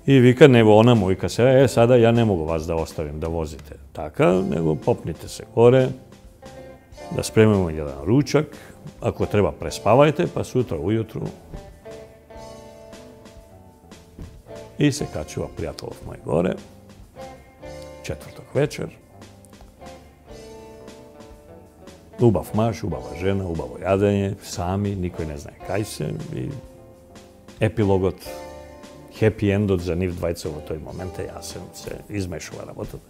И вика, него она му вика сега, е, сада ја не могу вас да оставим да возите така, него попните се горе, да спремимо еден ручак, ако треба преспавајте, па сутра ујутру. И се качува пријателов мој горе, четврток вечер. Убав маж, убава жена, убаво јадење, сами, никој не знае кај се. И епилогот, хепи ендот за нив двајца во тој момент е јасен, се измешува работата,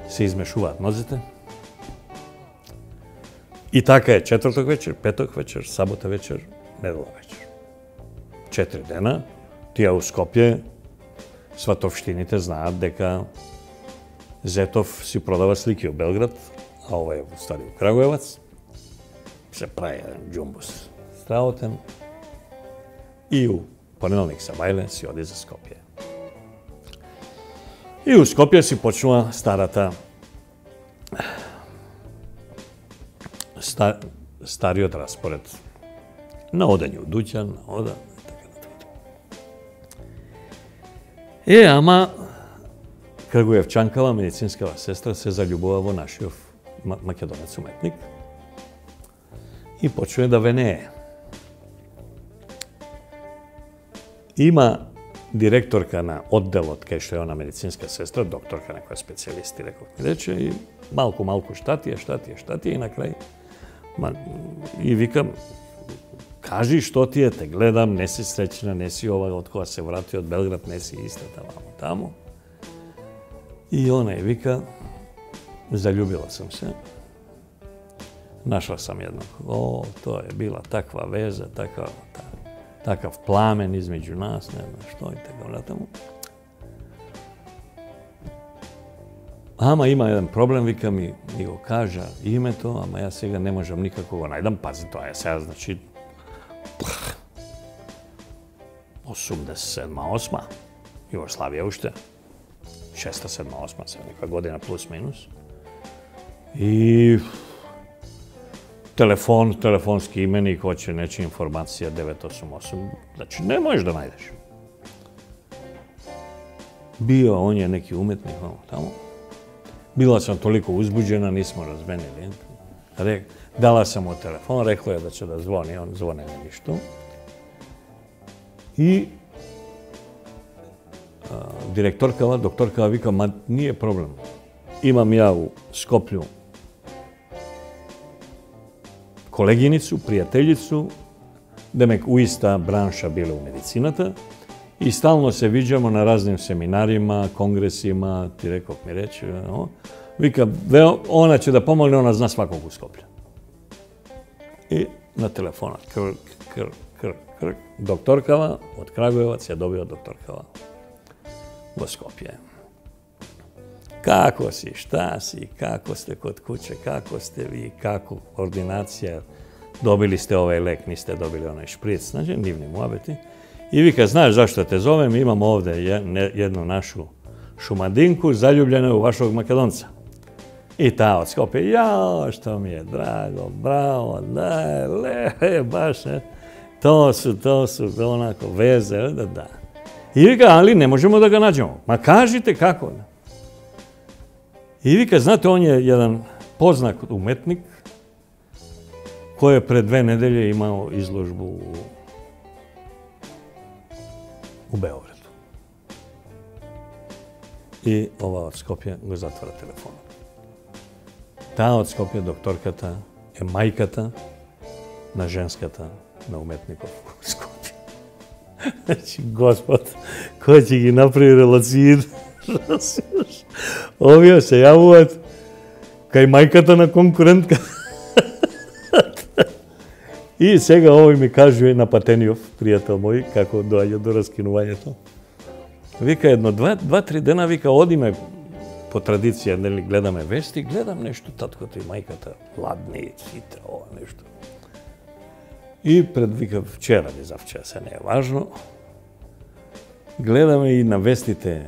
се измешуваат нозите. И така е четврток вечер, петок вечер, сабота вечер, недела вечер. Четири дена, тие у Скопје, сватовштините знаат дека Зетов си продава слики у Белград, а ова е во Стари Крагуевац. Се прави еден џумбус страотен. И у понеделник сабајле си оди за Скопје. И у Скопје си почнува старата Стар, стариот распоред. на одење у дуќан, на ода, и така натаму. Е, ама, Крагуевчанкава, медицинскава сестра, се заљубува во нашиот македонец уметник и почне да венее. Има директорка на одделот кај што е она медицинска сестра, докторка некоја специјалисти, реков ми рече, и малку, малку штатија, штатија, штатија, и на крај, ма, и викам, кажи што ти е, те гледам, не си среќна, не си ова, од кога се врати од Белград, не си истата мамо таму. И она и вика, заљубила сам се. Нашла сам едно. О, тоа е била таква веза, таква, такав пламен измеѓу нас, не знам што и така натаму. Ама има еден проблем, вика ми, ми го кажа името, ама ја сега не можам никако го најдам. Пази, тоа е сега, значи, осумдесет седма осма, Југославија уште, шеста седма осма, се некоја година плюс-минус. И телефон, телефонски именик, хоće нечи информација девет осум осум, значи не можеш да најдеш. Био, он е неки уметник, тамо. Била sam toliko uzbuđena, nismo razmenili. Rek, dala sam mu telefon, rekla je da će da zvoni, on zvone ne ništa. I a, direktorkava, doktorkava vika, ma nije problem. Imam ja u Skoplju колегиницу, пријателјицу, демек у иста бранша биле у медицината и стално се виđamo на разним семинарима, конгресима, ти реков ми рече, no? Вика, она ќе да помогне, она зна сваког у Скопје. И на телефонот, крк, крк, крк, крк, докторкава од Крагуевац ја добива докторкава во Скопје. Како си, шта си, како сте код куќе, како сте ви, како ординација, добили сте овај лек, нисте добили онај шприц, значи, нивни муабети. И вика, знаеш зашто те зовем, имам овде едну нашу шумадинку, заљубljena у вашог македонца. И таа од Скопје, јао, што ми е драго, браво, да, ле, баш, не, то су, то су, онако, везе, да, да. И вика, али не можемо да га наđemo. Ма кажите како, не. И вика, знате, он е еден познат уметник, кој е пред две неделje имао изложбу у, у Београду. И ова од Скопје го затвора телефонот. Таа од Скопје, докторката, е мајката на женската на уметников у Скопје. Значи, Господ, кој ќе ги направи релацијите? Овие се јавуваат кај мајката на конкурентка. И сега овој ми кажува на Патениов, пријател мој, како доаѓа до раскинувањето. Вика едно, два, два, три дена, вика, одиме по традиција, нели, гледаме вести, гледам нешто, таткото и мајката, ладни, сите, ова нешто. И пред, вика, вчера, не завчера, се не е важно, гледаме и на вестите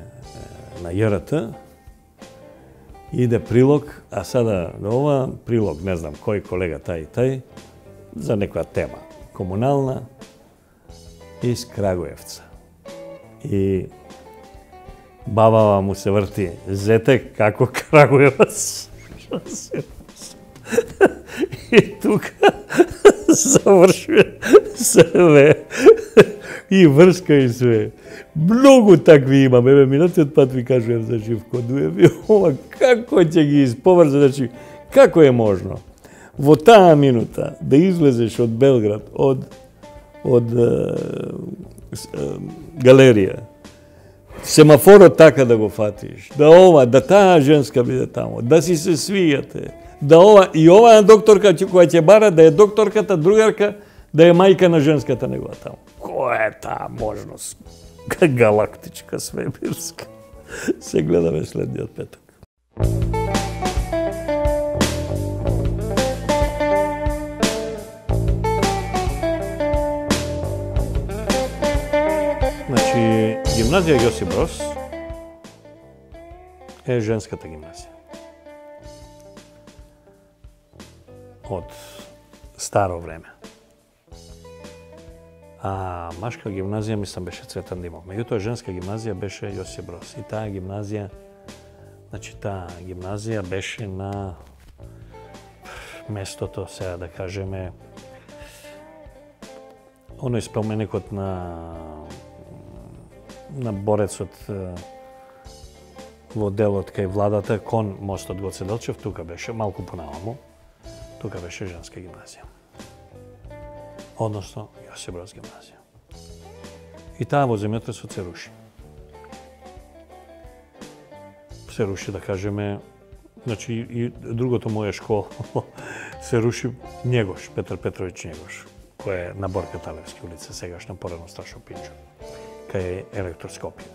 на ЈРТ, иде прилог, а сада ова прилог, не знам кој колега тај и тај, за некоја тема комунална из Крагуевца. И бабава му се врти, зете како Крагуевац. И тука завршува све. И врска и све. Многу такви имам. Еве, минатиот пат ви кажувам за Живко Дуев. Ова, како ќе ги изповрза, значи, како е можно во таа минута да излезеш од Белград, од, од е, е, галерија, семафорот така да го фатиш, да ова, да таа женска биде тамо, да си се свијате, да ова, и оваа докторка која ќе бара да е докторката, другарка, да е мајка на женската негова тамо. Која е таа можност? Галактичка, свемирска. Се гледаме следниот петок. Значи, гимназија Јосип Брос е женската гимназија. Од старо време. А машка гимназија, мислам, беше Цветан Димов. Меѓутоа, женска гимназија беше Јосип Брос. И таа гимназија, значи таа гимназија беше на местото, сега да кажеме, оној споменикот на на борецот во делот кај владата кон мостот Гоце Делчев, тука беше малку понамаму, тука беше женска гимназија. Односно Јосип Броз гимназија. И таа во земјотресот се руши. Се руши, да кажеме, значи и другото моја школа се руши Njegош, Петар Петровиќ Njegош, кој е на Борка Талевски улица, сегашна порано Сташо Пинчо, кај Електроскопија.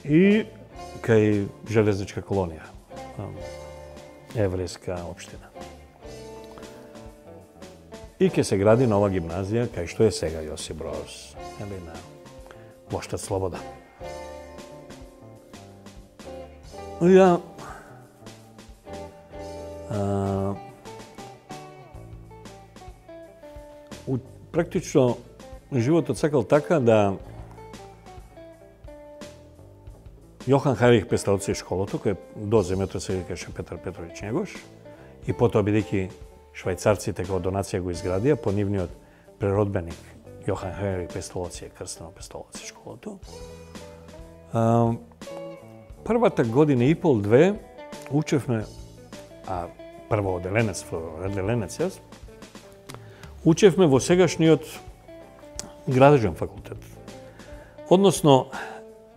И кај Железничка колонија, еврејска општина. И ќе се гради нова гимназија, кај што е сега Јосип Броз, или на Плоштад Слобода. Ја а, у, практично животот сакал така да Јохан Хајрих Песталци школото, кој до земјотресот се викаше Петар Петровиќ Njegош, и потоа бидејќи швајцарците како донација го изградија по нивниот преродбеник Јохан Хајрих Песталци, крстено Песталци школото. А, првата година и пол две учевме, а прво оделенец, оделенец јас, учевме во сегашниот градежен факултет. Односно,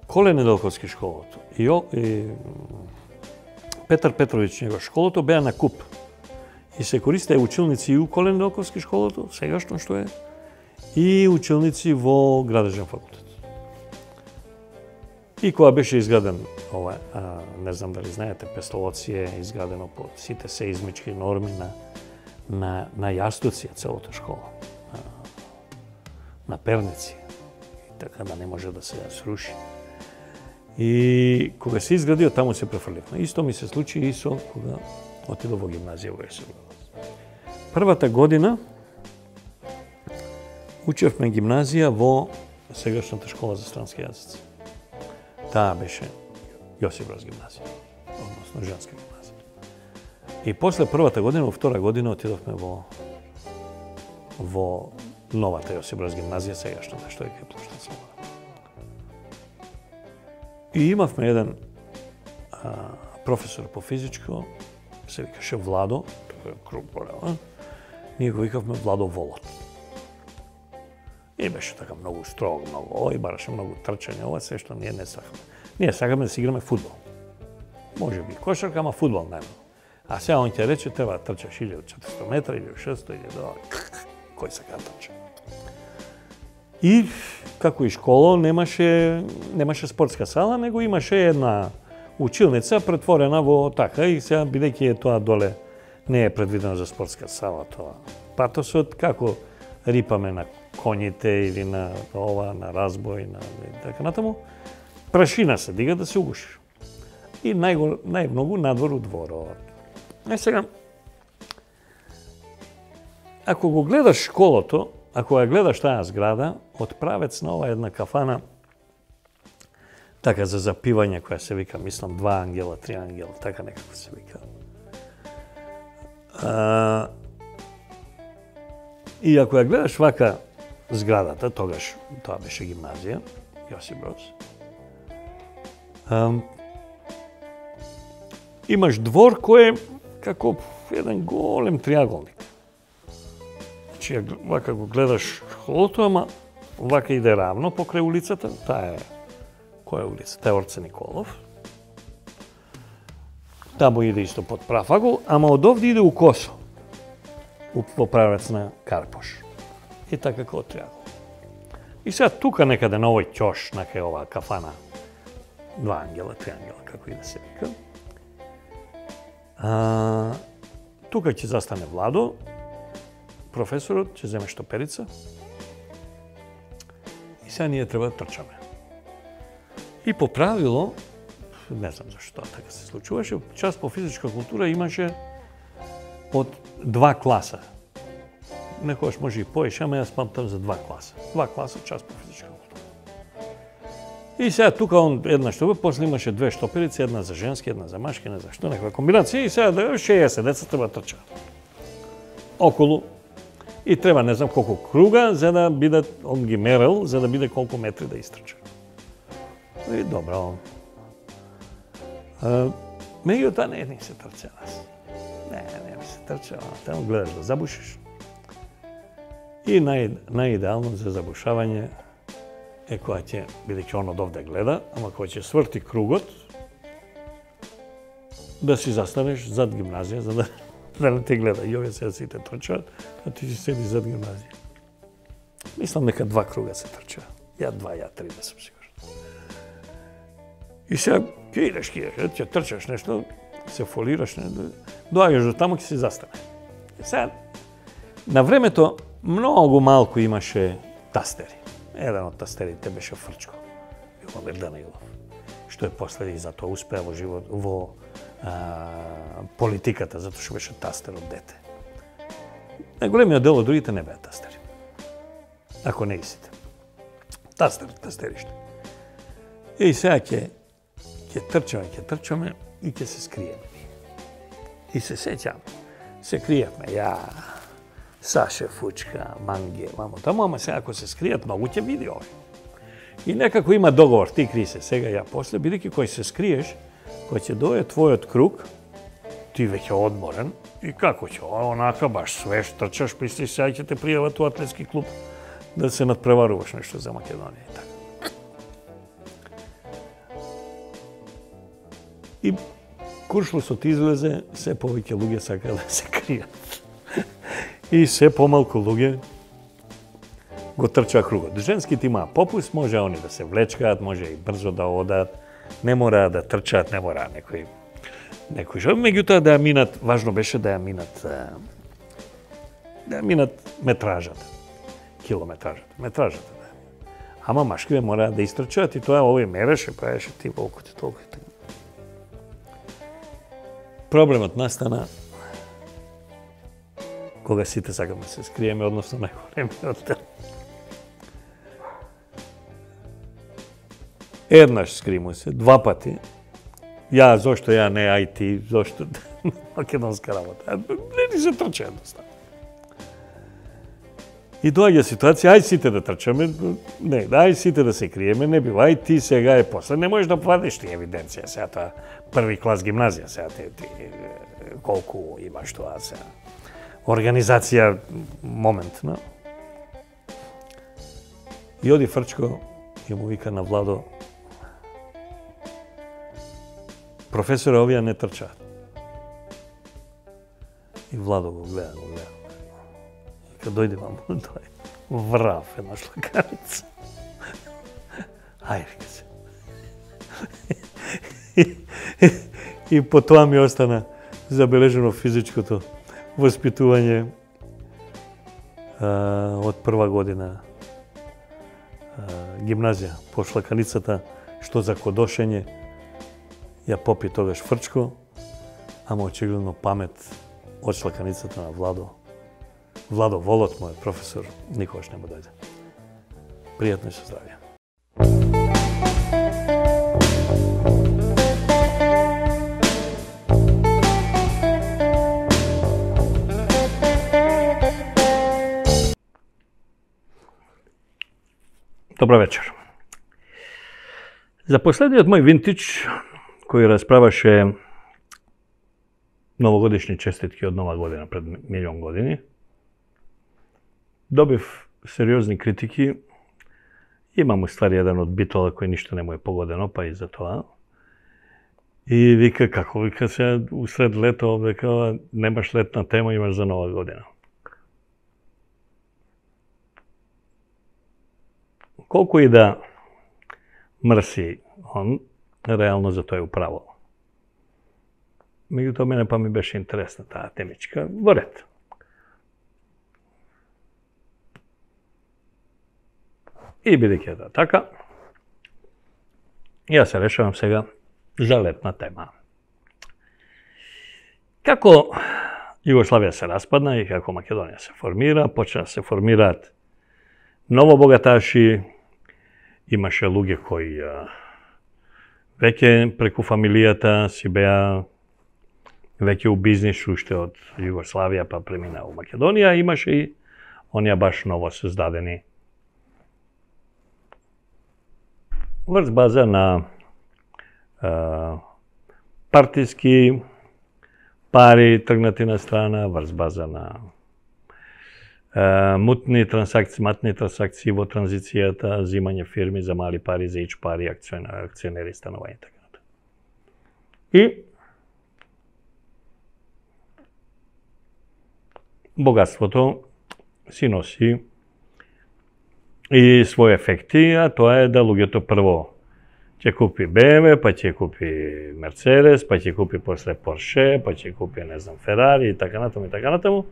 Коле Неделковски школото и, и Петар Петровиќ Njegош школото беа на куп. И се користеа училници и у Коле Неделковски школото, сегашно што е, и училници во градежен факултет. И кога беше изграден ова, а, не знам дали знаете, Пестолоци е изградено по сите сеизмички норми на на на јастуци целата школа. На, на перници. И така да не може да се сруши. И кога се изградио, таму се префрливме. Исто ми се случи и со кога отидов во гимназија во Јосип Броз. Првата година учевме гимназија во сегашната школа за странски јазици. Таа беше Јосип Броз гимназија, односно женска гимназија. И после првата година, во втора година отидовме во во новата Јосип Броз гимназија, сегашната што е кај Плоштад Слобода. И имавме еден а, професор по физичко, се викаше Владо, тој е круг порела, ние го викавме Владо Волот. И беше така многу строг, многу ој, бараше многу трчање, ова се што ние не сакаме. Ние сакаме да си играме фудбал. Може би кошарка, ама фудбал нема. А сега он ќе рече, треба да трчаш илјаду и четиристо метра, илјаду и шестоста, илјаду кој сака трча. И како и школа немаше немаше спортска сала, него имаше една училница претворена во така и сега бидејќи е тоа доле не е предвидено за спортска сала тоа. Патосот како рипаме на коњите или на ова, на разбој, на така натаму, прашина се дига да се угушиш. И најго, најмногу надвор у дворот. Е сега, ако го гледаш школото, ако ја гледаш таа зграда, од правец на ова една кафана, така за запивање која се вика, мислам, два ангела, три ангела, така некако се вика. А, и ако ја гледаш вака зградата, тогаш тоа беше гимназија, Јосип Броз, а, имаш двор кој е како еден голем триаголник. Значи, вака го гледаш школото, ама вака иде равно покрај улицата, таа е, која е улица? Таа е Орце Николов. Таму иде исто под прав агол, ама од овде иде у косо, во правец на Карпош. И така како триагол. И сега тука некаде на овој ќош, накај оваа кафана, два ангела, три ангела, како и да се вика, а, тука ќе застане Владо, професорот ќе земе штоперица и сега ние треба да трчаме. И по правило, не знам зашто така се случуваше, час по физичка култура имаше од два класа. некогаш може и поеш, ама јас памтам за два класа. Два класа, час по физичка култура. И сега тука он една што после имаше две штоперици, една за женски, една за машки, не за што, некаква комбинација и сега да шеесет деца треба трчаат. Околу и треба не знам колку круга за да бидат, он ги мерел, за да биде колку метри да истрча. И добро. Меѓутоа не ни се трча нас. Не, не ми се трча, таму гледаш да забушиш. И нај, најидеално за забушавање е која ќе, бидејќи он од овде гледа, ама која ќе сврти кругот, да си застанеш зад гимназија, за да, да не те гледа. И овие сега сите трчаат, а ти си седи зад гимназија. Мислам дека два круга се трча. Ја два, ја три, не сум сигурен. И сега ќе идеш, ќе идеш, ќе трчаш нешто, се фолираш, не, доаѓаш до таму, ќе си застане. И сега, на времето, многу малку имаше тастери. Еден од тастерите беше Фрчко, Јубомир Данаилов, што е после и затоа успеа во живот, во а, политиката, затоа што беше тастер од дете. Најголемиот дел од другите не беа тастери. Ако не и сите. Тастер, тастериште. И сега ќе ќе трчаме, ќе трчаме и ќе се скриеме. И се сеќам, се криевме, ја, Саше, Фучка, Манге, мамо таму, ама сега ако се скријат, многу ќе види овој. И некако има договор, ти кри се сега, ја после, бидејќи кој се скриеш, кој ќе дојде твојот круг, ти веќе одморен, и како ќе, онака баш свеж, трчаш, мислиш сега ќе те пријават у атлетски клуб, да се надпреваруваш нешто за Македонија и така. И куршлусот излезе, се повеќе луѓе сака да се кријат. И се помалку луѓе го трчаа кругот. Женските имаа попуст, може они да се влечкаат, може и брзо да одат, не мора да трчаат, не мора некој некој што. Меѓутоа да ја минат, важно беше да ја минат да ја минат метражата, километражата, метражата да ја. Ама машкиве мора да истрчаат и тоа овој мереше, правеше ти волку ти толку и така. Проблемот настана кога сите сакаме се скриеме, односно најголемиот дел. Еднаш скримо се, два пати. Ја, зошто ја не ај ти, зошто македонска работа. Не ни се трча едноставно. И доаѓа ситуација, ај сите да трчаме, не, ај сите да се криеме, не бива, ај ти сега е после. Не можеш да вадиш ти евиденција, сега тоа први клас гимназија, сега ти, ти колку имаш тоа сега. Организација моментна. И оди Фрчко и му вика на Владо, професоре, овие не трчаат. И Владо го гледа, го гледа. И кога дојде вам, тој врав една шлаканица. Ај, вика се. И, и по тоа ми остана забележено физичкото воспитување а, од прва година а, гимназија по шлаканицата, што за кодошење ја попи тогаш Фрчко, ама очигледно памет од шлаканицата на Владо. Владо, волот мој професор, никогаш не му дојде. Пријатно и со здравје. Добро вечер. За последниот мој винтич, кој расправаше новогодишни честитки од нова година пред милион години, добив сериозни критики. Имам уствари еден од Битола кој ништо не му е погодено, па и за тоа. И вика, како вика се, усред лето, века, немаш летна тема, имаш за нова година. Колку и да мрси он, реално за тој управо. Меѓутоа, мене па ми беше интересна таа темичка. Во ред. И бидејќи да така, јас се решавам сега за летна тема. Како Југославија се распадна и како Македонија се формира, почна да се формираат ново богаташи, имаше луѓе кои веќе преку фамилијата си беа веќе у бизнис уште од Југославија па премина у Македонија, имаше и оние баш ново создадени врз база на а, партиски пари тргнати на страна, врз база на а, мутни трансакции, матни трансакции во транзицијата, земање фирми за мали пари, за ич пари, акционери, станување и така натаму. И богатството си носи и своји ефекти, а тоа е да луѓето прво ќе купи Б М В, па ќе купи Мерцедес, па ќе купи после Порше, па ќе купи, не знам, Ферари и така натаму и така натаму.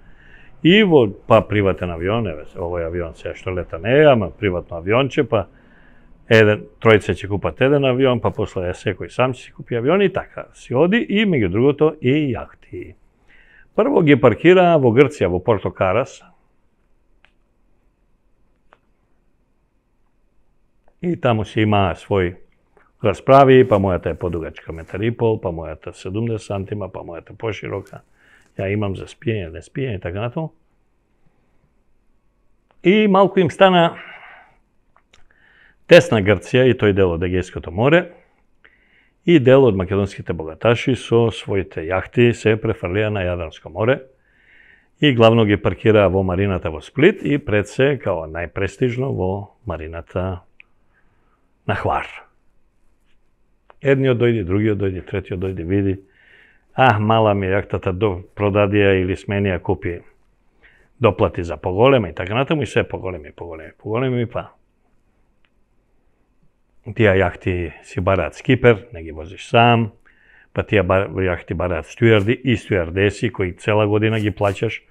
И во па приватен авион, еве, овој авион се што лета не е, ама приватно авионче, па еден тројца ќе купат еден авион, па после секој сам ќе си купи авион и така си оди, и меѓу другото и јахти. Прво ги паркираа во Грција, во Порто Карас. И таму си имаа свој расправи, па мојата е подугачка метар и пол, па мојата седумдесет сантима, па мојата поширока. Ја имам за спиење, не спиење и така натаму. И малку им стана тесна Грција и тој дел од Егејското море. И дел од македонските богаташи со своите јахти се префрлија на Јадранско море и главно ги паркираа во марината во Сплит и пред се, као најпрестижно, во марината на Хвар. Едниот дојде, другиот дојде, третиот дојде, види, а, мала ми јахтата до продадија или сменија купи доплати за поголема и така натаму, и се поголеми, поголеми, поголеми, па тие јахти си бараат скипер, не ги возиш сам, па тие јахти бараат стюарди и стюардеси кои цела година ги плаќаш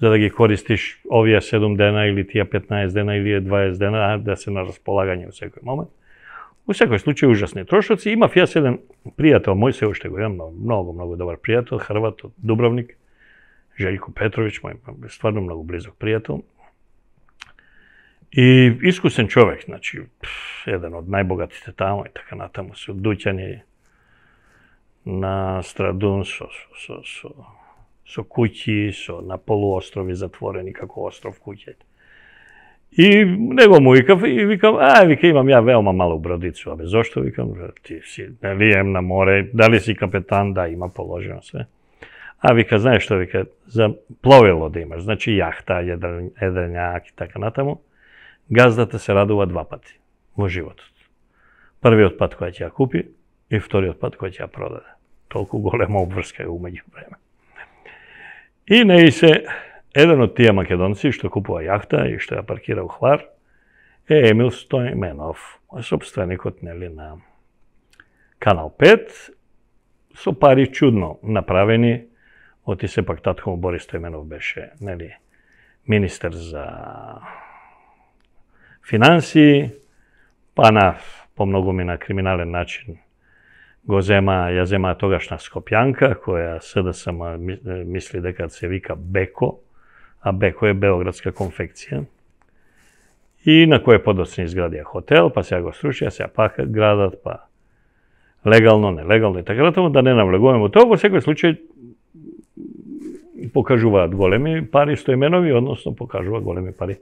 за да ги користиш овие седум дена или тие петнаесет дена или дваесет дена, да се на располагање во секој момент. Во секој случај ужасни трошоци. Имав јас еден пријател, мој се уште го имам, многу, многу добар пријател, Хрват од Дубровник, Желјко Петровиќ, мој стварно многу близок пријател. И искусен човек, значи, еден од најбогатите таму и така натаму, со дуќани на Страдун, со, со, со, со куќи, со на полуострови затворени како остров куќи. И него му викав и викам, а, вика, имам ја велма малу бродицу, абе, зошто, викам, ти си, нели, ем на море, дали си капетан, да, има положено све. А, вика, знаеш што, вика, за пловило да имаш, значи јахта, едрењак и така натаму, газдата се радува два пати во животот. Првиот пат која ќе ја купи и вториот пат која ќе ја продаде. Толку голема обврска е умеѓу време. И не се еден од тие македонци што купува јахта и што ја паркира у Хвар е Емил Стојменов, сопственикот, нели, на Канал пет, со пари чудно направени. Оти сепак татко му Борис Стојменов беше, нели, министер за финансии, па на помногу ми на криминален начин го зема, ја зема тогашна Скопјанка, која С Д С М мисли дека се вика Беко, а Беко е Београдска конфекција. И на кој подоцна изградија хотел, па сега го срушија, сега пак градат, па легално, нелегално и така натаму, да не навлегуваме во тоа. Во секој случај покажуваат големи пари Стојменови, односно покажува големи пари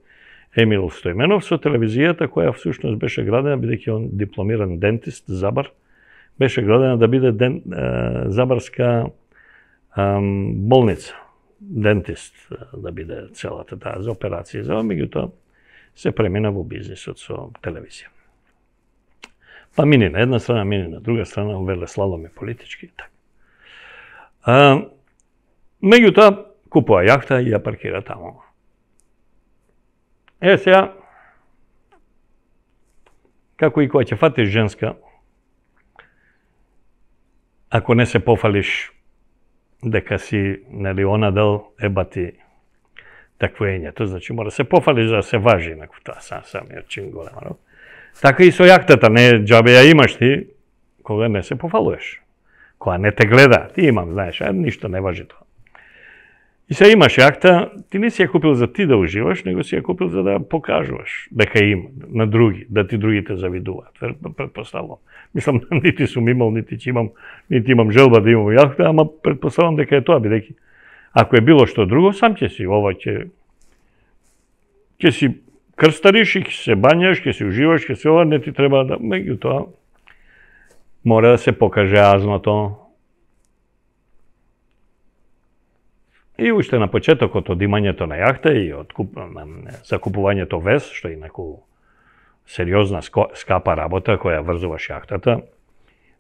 Емил Стојменов со телевизијата која всушност беше градена, бидејќи он дипломиран дентист, забар, беше градена да биде ден, е, забарска е, болница, дентист да биде целата таа за операции, за меѓутоа се премина во бизнисот со телевизија. Па мини на една страна, мини на друга страна, веле слалом и политички. А, меѓутоа купува јахта и ја паркира таму. Е, сега, како и кога ќе фатиш женска, ако не се пофалиш дека си, нели, она дел ебати таквоењето, значи мора се пофалиш да се важи, нако тоа сам самиот чин голема. Така и со јахтата, не џабе ја имаш ти, кога не се пофалуваш. Кога не те гледа, ти имам, знаеш, а ништо не важи тоа. И сега имаш јахта, ти не си ја купил за ти да уживаш, него си ја купил за да покажуваш дека има на други, да ти другите завидуваат. Предпоставувам. Мислам, нити сум имал, нити ќе имам, нити имам желба да имам јахта, ама предпоставувам дека е тоа, бидејќи ако е било што друго, сам ќе си, ова ќе ќе си крстариш и ќе се бањаш, ќе си уживаш, ќе се ова, не ти треба да, меѓутоа мора да се покаже азното. И уште на почетокот од имањето на јахта и од закупувањето вез, што е инаку сериозна, скапа работа која врзуваш јахтата,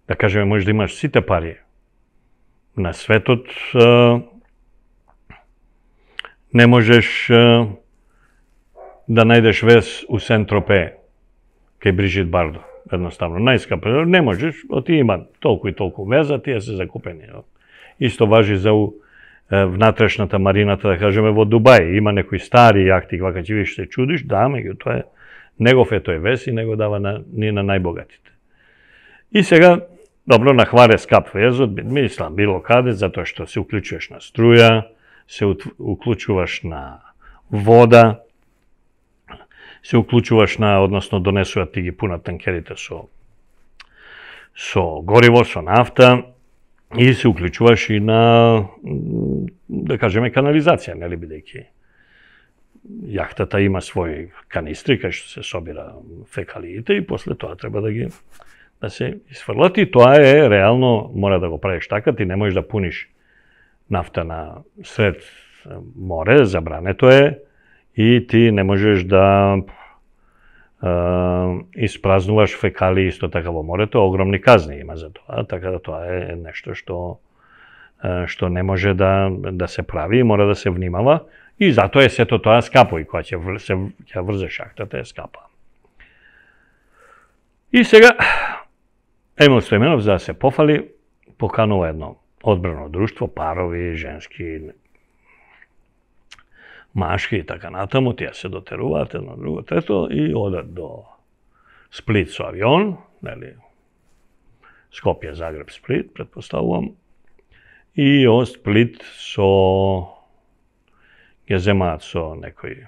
да кажеме, можеш да имаш сите пари на светот, не можеш да најдеш вез у Сен-Тропе кај Брижит Бардо. Едноставно, најскапа, не можеш, оти има толку и толку веза, тие се закупени. Исто важи за внатрешната марината, да кажеме, во Дубај. Има некои стари јахти, кога ќе видиш се чудиш, да, меѓутоа е негов е тој вез и него дава на, не на најбогатите. И сега, добро, на хваре скап везот, мислам, било каде, затоа што се уклучуваш на струја, се уклучуваш на вода, се уклучуваш на, односно донесуваат ти ги пунат танкерите со со гориво, со нафта, и се уклучуваш и на, да кажеме, канализација, нели, бидејќи јахтата има своји канистри кај што се собира фекалиите и после тоа треба да ги да се исфрлат, и тоа е реално, мора да го правиш така, ти не можеш да пуниш нафта на сред море, забрането е, и ти не можеш да е, испразнуваш фекали исто така во морето, огромни казни има за тоа, така да тоа е нешто што е, што не може да да се прави, мора да се внимава, и затоа е сето тоа скапо, и кога ќе се ќе врзеш јахтата е скапа. И сега Емил Стојменов, за да се пофали, поканува едно одбрано друштво, парови, женски, машки и така натаму, тие се дотеруваат едно друго трето и одат до Сплит со авион, нели, Скопје, Загреб, Сплит, предпоставувам, и од Сплит со ги земаат со некои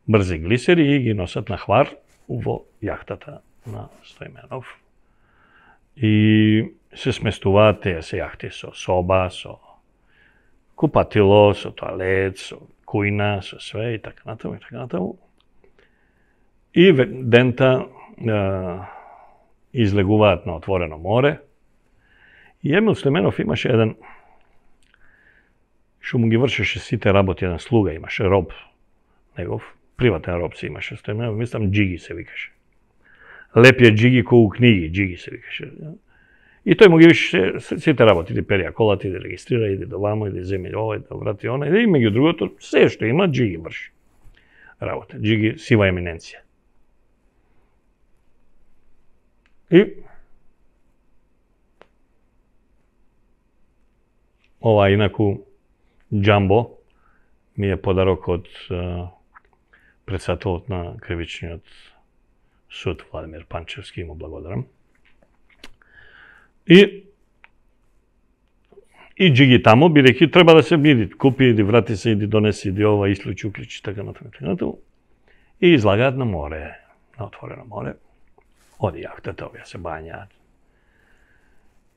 брзи глисери и ги носат на хвар во јахтата на Стојменов. И се сместуваат тие се јахти со соба, со купатило, со тоалет, со кујна, со све и така натаму и така натаму. И дента е, излегуваат на отворено море. И Емил Стојменов имаше еден, што му ги вршеше сите работи, еден слуга имаше, роб, негов, приватен роб се имаше Стојменов, мислам Джиги се викаше. Лепија Джиги кој у книги, Джиги се викаше. И тој му ги више сите работи, иди перија колата, иди регистрира, иди до вамо, иди земи овој, да врати оној, и меѓу другото, се што има, Джиги врши работа. Джиги сива еминенција. И ова инаку џамбо ми е подарок од uh, председателот на кривичниот суд Владимир Панчевски, му благодарам. И и Джиги таму, бидејќи треба да се биди, купи, иди врати се, иди донеси, иди ова, ислучи, уклучи, така натаму. И излагаат на море, на отворено море. Оди јахтата, овие се бањаат.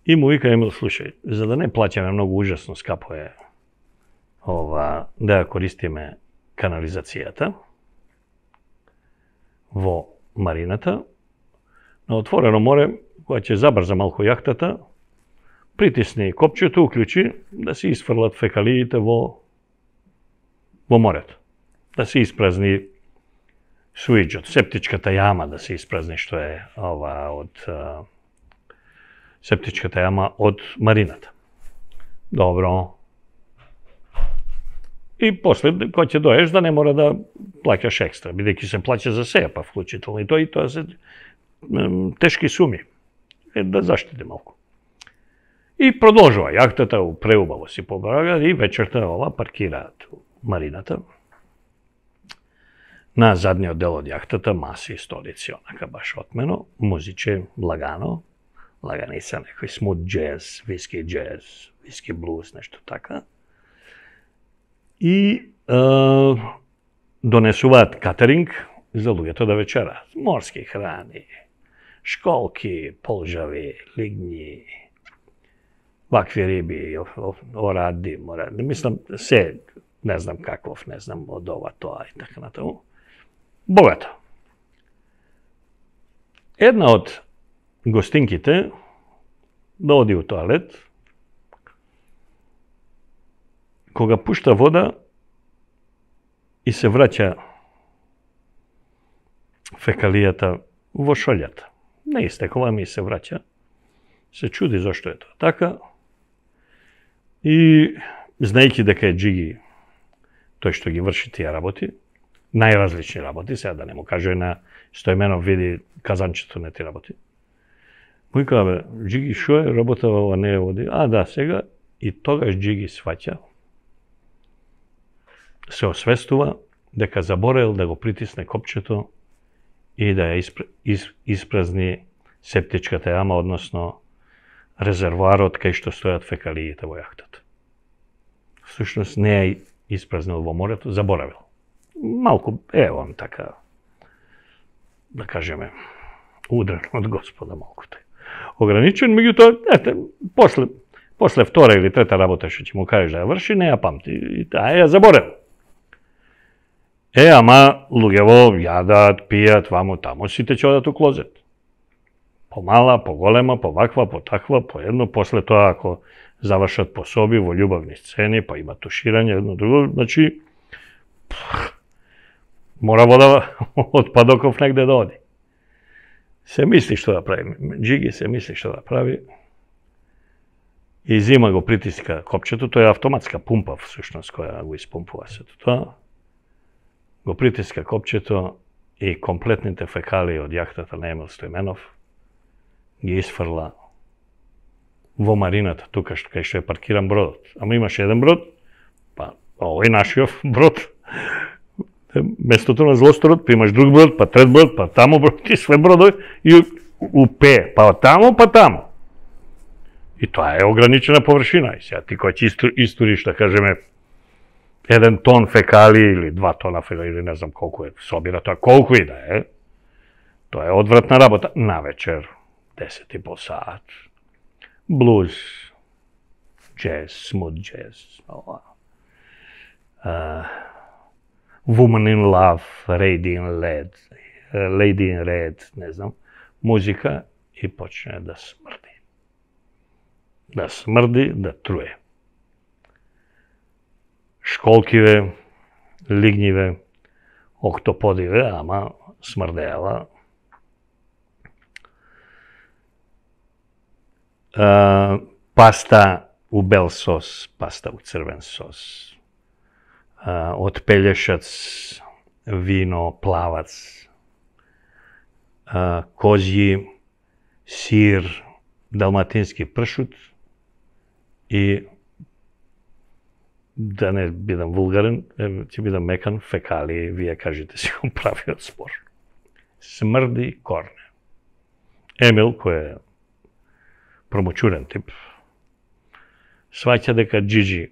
И му вика Емил, слушај, за да не плаќаме многу ужасно скапо е ова, да ја користиме канализацијата во марината, на отворено море, кога ќе забрза малку јахтата, притисни копчето, уклучи, да се исфрлат фекалиите во во морето. Да се испразни суиџот, септичката јама да се испразни, што е ова од а, септичката јама од марината. Добро. И после, кога ќе доеш, да не мора да плаќаш екстра, бидејќи се плаќа за сеја, па вклучително и тоа, и тоа се тешки суми. Е, да заштиди малку. И продолжува јахтата, преубаво си побрага, и вечерта ова паркираат марината. На задниот дел од јахтата маси и столици, онака баш отмено, музиче лагано, лаганица, некој смут джез, виски джез, виски блуз, нешто така. и а, донесуваат катеринг за луѓето да вечерат. Морски храни, школки, полжави, лигњи, вакви риби, оради, моради. Мислам, се, не знам каков, не знам, од ова, тоа и така натаму. Богато. Една од гостинките да оди у тоалет, кога пушта вода и се враќа фекалијата во шолјата. Не истекува, ми се враќа. Се чуди зашто е тоа така. И знаејќи дека е Џиги тој што ги врши тие работи, најразлични работи, сега да не му кажа на Стојменов види казанчето на тие работи. Му вика, бе, Џиги, шо е работава ова, не е води? А, да, сега. И тогаш Џиги сваќа, се освестува дека заборел да го притисне копчето и да ја испр... из... испразни септичката јама, односно резервоарот кај што стојат фекалиите во јахтата. Всушност не ја испразнил во морето, заборавил. Малку, е, он така, да кажеме, удрен од Господа малку тај. Ограничен, меѓутоа, ете, после, после втора или трета работа што ќе му кажеш да ја врши, не ја памти, и таа ја заборел. Е, ама луѓево јадат, пијат, ваму таму, сите ќе одат у клозет. Помала, поголема, поваква, потаква, по едно, после тоа ако завршат пособи во љубавни сцени, па има туширање, едно друго, значи мора вода од падоков негде да оди. Се мисли што да прави, Џиги се мисли што да прави, и зима го притиска копчето, тоа е автоматска пумпа, всушност, која го испумпува сето тоа. Го притиска копчето и комплетните фекалии од јахтата на Емил Стојменов ги исфрла во марината, тука што кај што е паркиран бродот. Ама имаше еден брод, па овој нашиов брод, местото на Злосторот, па имаш друг брод, па трет брод, па таму брод и све бродови и упе, па таму, па таму. И тоа е ограничена површина. И сега ти кој ќе историш, да кажеме, еден тон фекали или два тона фекали, или не знам колку е, собира тоа, колку и да е, тоа е одвратна работа. Навечер, десет и пол саат, блуз, джез, смут джез, ова. Uh, Woman in Love, Lady in Red, Lady in Red, не знам, музика и почне да смрди. Да смрди, да труе. Школкиве, лигњиве, октоподиве, ама смрдеала. Uh, паста у бел сос, паста у црвен сос. Uh, од пелешац, вино, плавац, uh, козји, сир, далматински пршут и, да не бидам вулгарен, ќе бидам мекан, фекалии, вие кажете си го правиот спор. Смрди корне. Емил, кој е промочурен тип, сваќа дека Џиџи,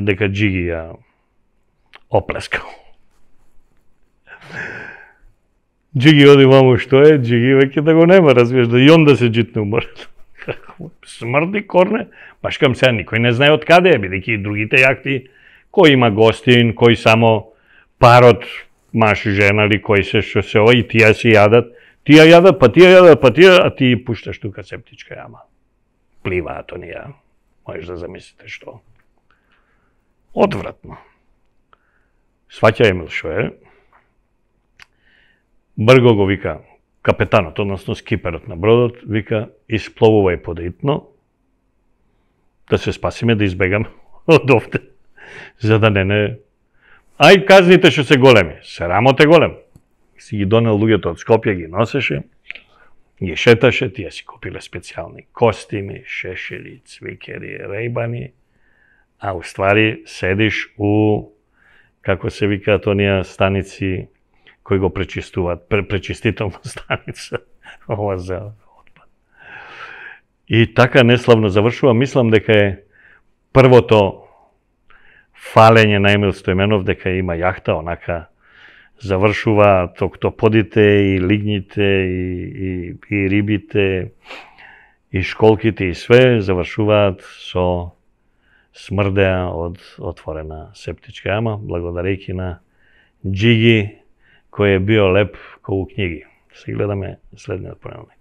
дека Џиги ја оплескал. Џиги оди маму, што е? Џиги веќе да го нема, разбираш, да и он да се джитне уморен. Смрди корне, баш кам сега никој не знае од каде е, бидејќи и другите јахти, кој има гостин, кој само парот, маш и жена ли, кој се што се ова, и тие си јадат, тие јадат, па тие јадат, па тие, а ти пушташ тука септичка јама. Пливаат онија, можеш да замислите што. Одвратно. Сваќа Емил шо е, брго го вика капетанот, односно скиперот на бродот, вика, испловувај подеитно, да се спасиме, да избегаме од овде, за да не не... Ај казните што се големи, срамот е голем. Си ги донел луѓето од Скопје, ги носеше, ги шеташе, тие си купиле специјални костими, шешери, цвикери, рејбани, а уствари седиш у, како се викаат онија станици кои го пречистуваат, пречистителна станица, ова за отпад. И така неславно завршува, мислам дека е првото фалење на Емил Стојменов дека има јахта, онака завршува токтоподите и лигните и, и, и рибите и школките и све завршуваат со смрдеа од отворена септичка јама, благодарејќи на Джиги кој е био леп колку книги. Се гледаме следниот понеделник.